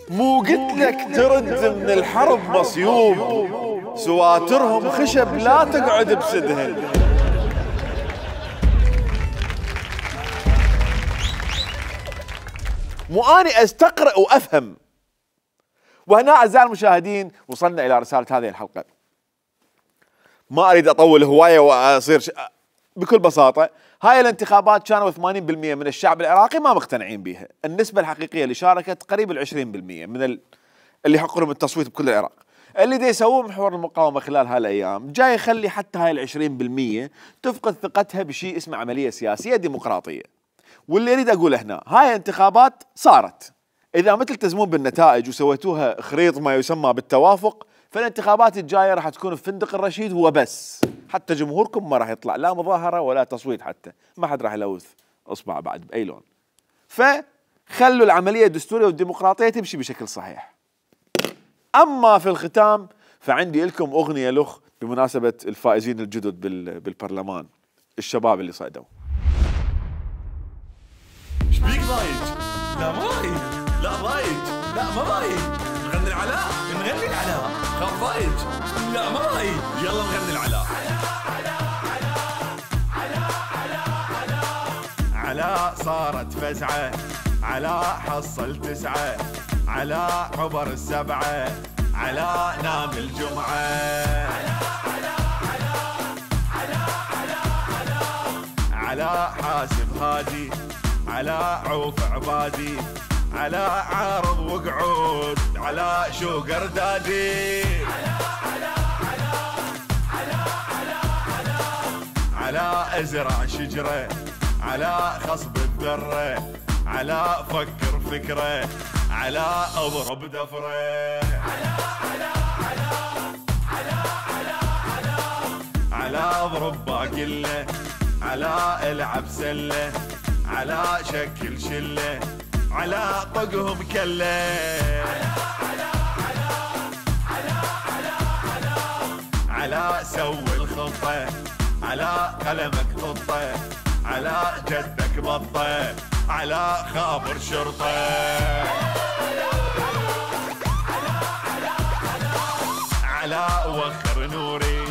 مو قلت لك ترد من الحرب مصيوب، سواترهم خشب لا تقعد بسدهن. مو اني استقرأ وافهم. وهنا اعزائي المشاهدين وصلنا الى رساله هذه الحلقه. ما اريد اطول هوايه واصير بكل بساطه، هاي الانتخابات كانوا 80% من الشعب العراقي ما مقتنعين بها، النسبه الحقيقيه اللي شاركت قريب ال 20% من اللي يحق لهم التصويت بكل العراق. اللي دا يسووه محور المقاومه خلال هالايام جاي يخلي حتى هاي ال 20% تفقد ثقتها بشيء اسمه عمليه سياسيه ديمقراطيه. واللي اريد اقوله هنا، هاي انتخابات صارت، اذا ما تلتزمون بالنتائج وسويتوها خريط ما يسمى بالتوافق، فالانتخابات الجايه راح تكون في فندق الرشيد وبس، حتى جمهوركم ما راح يطلع لا مظاهره ولا تصويت، حتى ما حد راح يلوث اصبع بعد باي لون. فخلوا العمليه الدستوريه والديمقراطيه تمشي بشكل صحيح. اما في الختام فعندي لكم اغنيه لخ بمناسبه الفائزين الجدد بالبرلمان، الشباب اللي صعدوا. ايش بيك ضايج؟ لا ما ضايج، لا ضايج، لا ما ضايج، نغني العلاء، نغني العلاء، خاف ضايج، لا ما ضايج، يلا نغني العلاء. علاء صارت فزعة، علاء حصل 9، علاء عبر 7، علاء نام الجمعة. علاء حاسب هادي، علاء عوف عبادي، علاء عارض وقعود، علاء شوقر دادي. علاء ازرع شجرة، علاء خصب الذرة، علاء فكر فكرة، علاء اضرب دفرة. علاء اضرب باقلة، علاء العب سلة، علاء شكل شلة، علاء طقهم كلة. علاء سوي الخطة، علاء قلمك خطة، علاء جدك بطة، علاء خابر شرطة. علاء وخر نوري،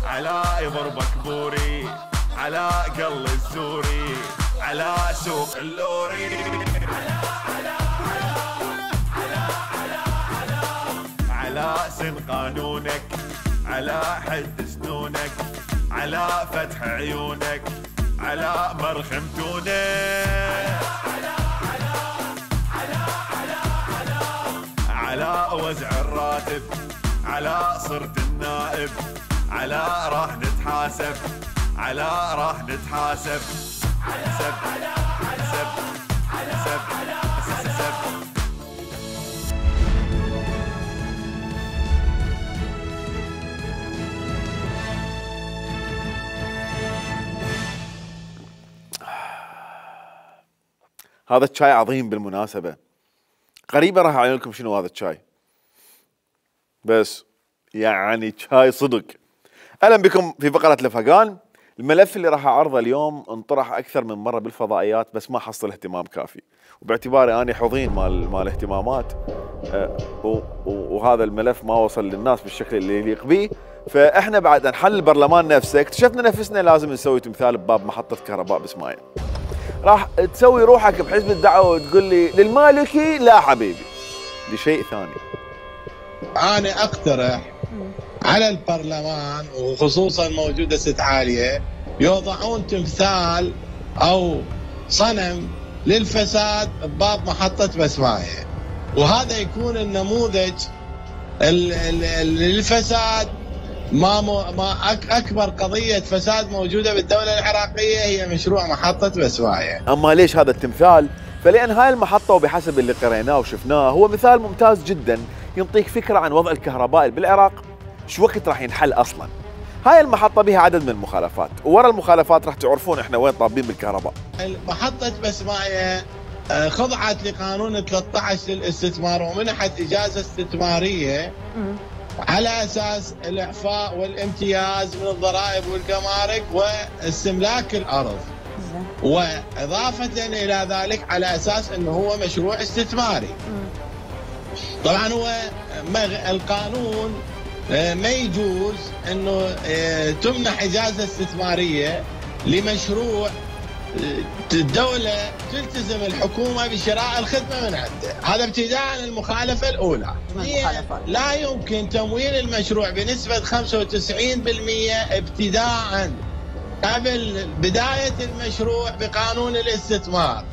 علاء يضربك بوري، علاء قل السوري، علاء سوق اللوري. علاء سن قانونك، علاء حد سنونك، علاء فتح عيونك، علاء مرخم تونك. علاء وزع الراتب، علاء صرت النائب، علاء راح نتحاسب، علاء راح نتحاسب. سب سب سب سب. هذا الشاي عظيم بالمناسبة، قريبا راح اعلن لكم شنو هذا الشاي، بس يعني شاي صدق. اهلا بكم في فقرة لفقان. الملف اللي راح اعرضه اليوم انطرح اكثر من مرة بالفضائيات بس ما حصل اهتمام كافي، وباعتباري اني حظين مال اهتمامات وهذا الملف ما وصل للناس بالشكل اللي يليق به، فاحنا بعد ان حل البرلمان نفسه اكتشفنا نفسنا لازم نسوي تمثال بباب محطة كهرباء باسماعيل. راح تسوي روحك بحزب الدعوة وتقول لي للمالكي لا حبيبي، لشيء ثاني. انا اقترح على البرلمان وخصوصا موجودة ست عالية يوضعون تمثال او صنم للفساد بباب محطة بسماية، وهذا يكون النموذج للفساد. ما اكبر قضية فساد موجودة بالدولة العراقية هي مشروع محطة بسماية. اما ليش هذا التمثال؟ فلان هاي المحطة وبحسب اللي قريناه وشفناه هو مثال ممتاز جدا ينطيك فكرة عن وضع الكهرباء بالعراق شو وقت راح ينحل اصلا. هاي المحطة بها عدد من المخالفات، وورا المخالفات راح تعرفون احنا وين طابين بالكهرباء. محطة بسماية خضعت لقانون 13 للاستثمار ومنحت إجازة استثمارية على أساس الإعفاء والامتياز من الضرائب والجمارك واستملاك الأرض، وإضافة إلى ذلك على أساس أنه هو مشروع استثماري. طبعا هو القانون ما يجوز أنه تمنح إجازة استثمارية لمشروع الدولة تلتزم الحكومة بشراء الخدمة من عنده. هذا ابتداء المخالفة الأولى. لا يمكن تمويل المشروع بنسبة 95% ابتداء قبل بداية المشروع بقانون الاستثمار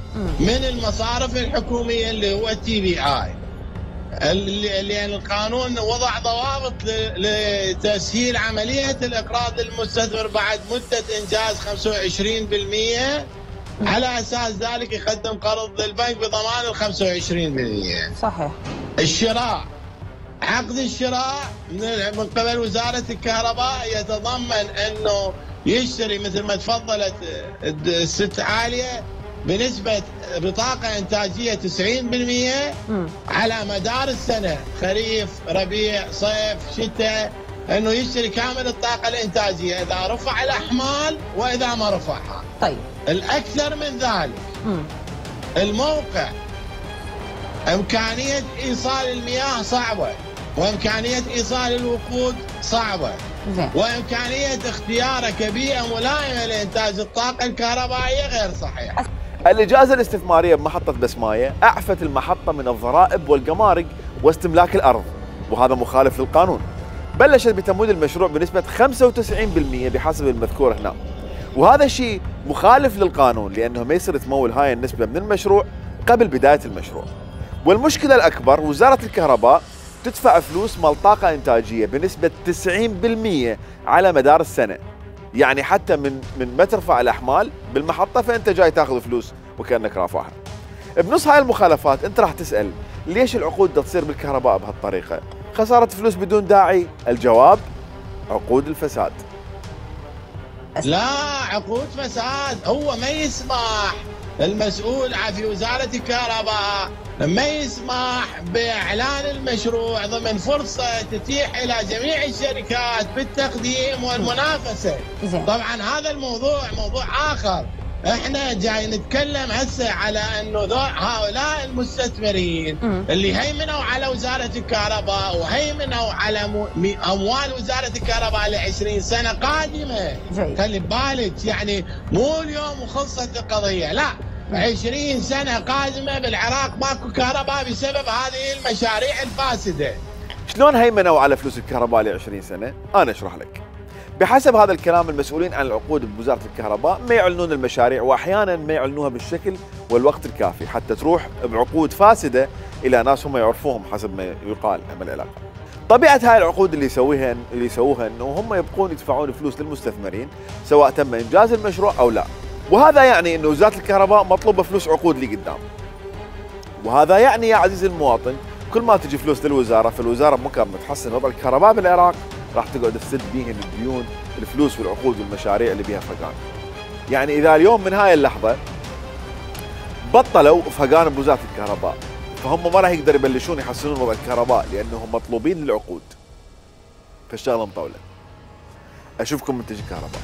من المصارف الحكومية اللي هو TBI، لأن القانون وضع ضوابط لتسهيل عملية الإقراض للمستثمر بعد مدة إنجاز 25%، على أساس ذلك يقدم قرض للبنك بضمان ال 25%. صحيح. الشراء، عقد الشراء من قبل وزارة الكهرباء يتضمن أنه يشتري مثل ما تفضلت الست عالية بنسبة بطاقة إنتاجية 90% على مدار السنة، خريف ربيع صيف شتاء، أنه يشتري كامل الطاقة الإنتاجية إذا رفع الأحمال وإذا ما رفعها. طيب الأكثر من ذلك الموقع إمكانية إيصال المياه صعبة، وإمكانية إيصال الوقود صعبة، وإمكانية اختياره كبيئة ملائمة لإنتاج الطاقة الكهربائية غير صحيحة. الإجازة الاستثمارية بمحطة بسماية أعفت المحطة من الضرائب والجمارك واستملاك الأرض، وهذا مخالف للقانون. بلشت بتمويل المشروع بنسبة 95% بحسب المذكور هنا، وهذا الشيء مخالف للقانون لأنه ما يصير تمول هاي النسبة من المشروع قبل بداية المشروع. والمشكلة الأكبر وزارة الكهرباء تدفع فلوس مال طاقة إنتاجية بنسبة 90% على مدار السنة، يعني حتى من ما ترفع الأحمال بالمحطة فأنت جاي تاخذ فلوس وكأنك رافعها. بنص هاي المخالفات أنت راح تسأل ليش العقود تصير بالكهرباء بهالطريقة؟ خسارة فلوس بدون داعي. الجواب عقود الفساد. لا عقود فساد، هو ما يسمح المسؤول في وزارة الكهرباء ما يسمح بإعلان المشروع ضمن فرصة تتيح إلى جميع الشركات بالتقديم والمنافسة. طبعا هذا الموضوع موضوع آخر. احنا جاي نتكلم هسه على انه هؤلاء المستثمرين اللي هيمنوا على وزارة الكهرباء وهيمنوا على اموال وزارة الكهرباء ل20 سنة قادمة. خلي بالك يعني مو اليوم وخلصت القضية، لا 20 سنة قادمة بالعراق ماكو كهرباء بسبب هذه المشاريع الفاسدة. شلون هيمنوا على فلوس الكهرباء ل20 سنة؟ انا اشرح لك. بحسب هذا الكلام المسؤولين عن العقود بوزارة الكهرباء ما يعلنون المشاريع، واحيانا ما يعلنوها بالشكل والوقت الكافي حتى تروح بعقود فاسدة الى ناس هم يعرفوهم حسب ما يقال هم العلاقة. طبيعة هاي العقود اللي يسووها انه هم يبقون يدفعون فلوس للمستثمرين سواء تم انجاز المشروع او لا، وهذا يعني انه وزارة الكهرباء مطلوبة فلوس عقود لقدام. وهذا يعني يا عزيزي المواطن كل ما تجي فلوس للوزارة، فالوزارة ممكن تحسن وضع الكهرباء بالعراق راح تقعد تسد بيهن الديون، الفلوس والعقود والمشاريع اللي بيها فقان. يعني اذا اليوم من هاي اللحظة بطلوا فقان بوزارة الكهرباء فهم ما راح يقدروا يبلشون يحسنون وضع الكهرباء لانهم مطلوبين للعقود. فالشغلة مطولة. اشوفكم منتج الكهرباء.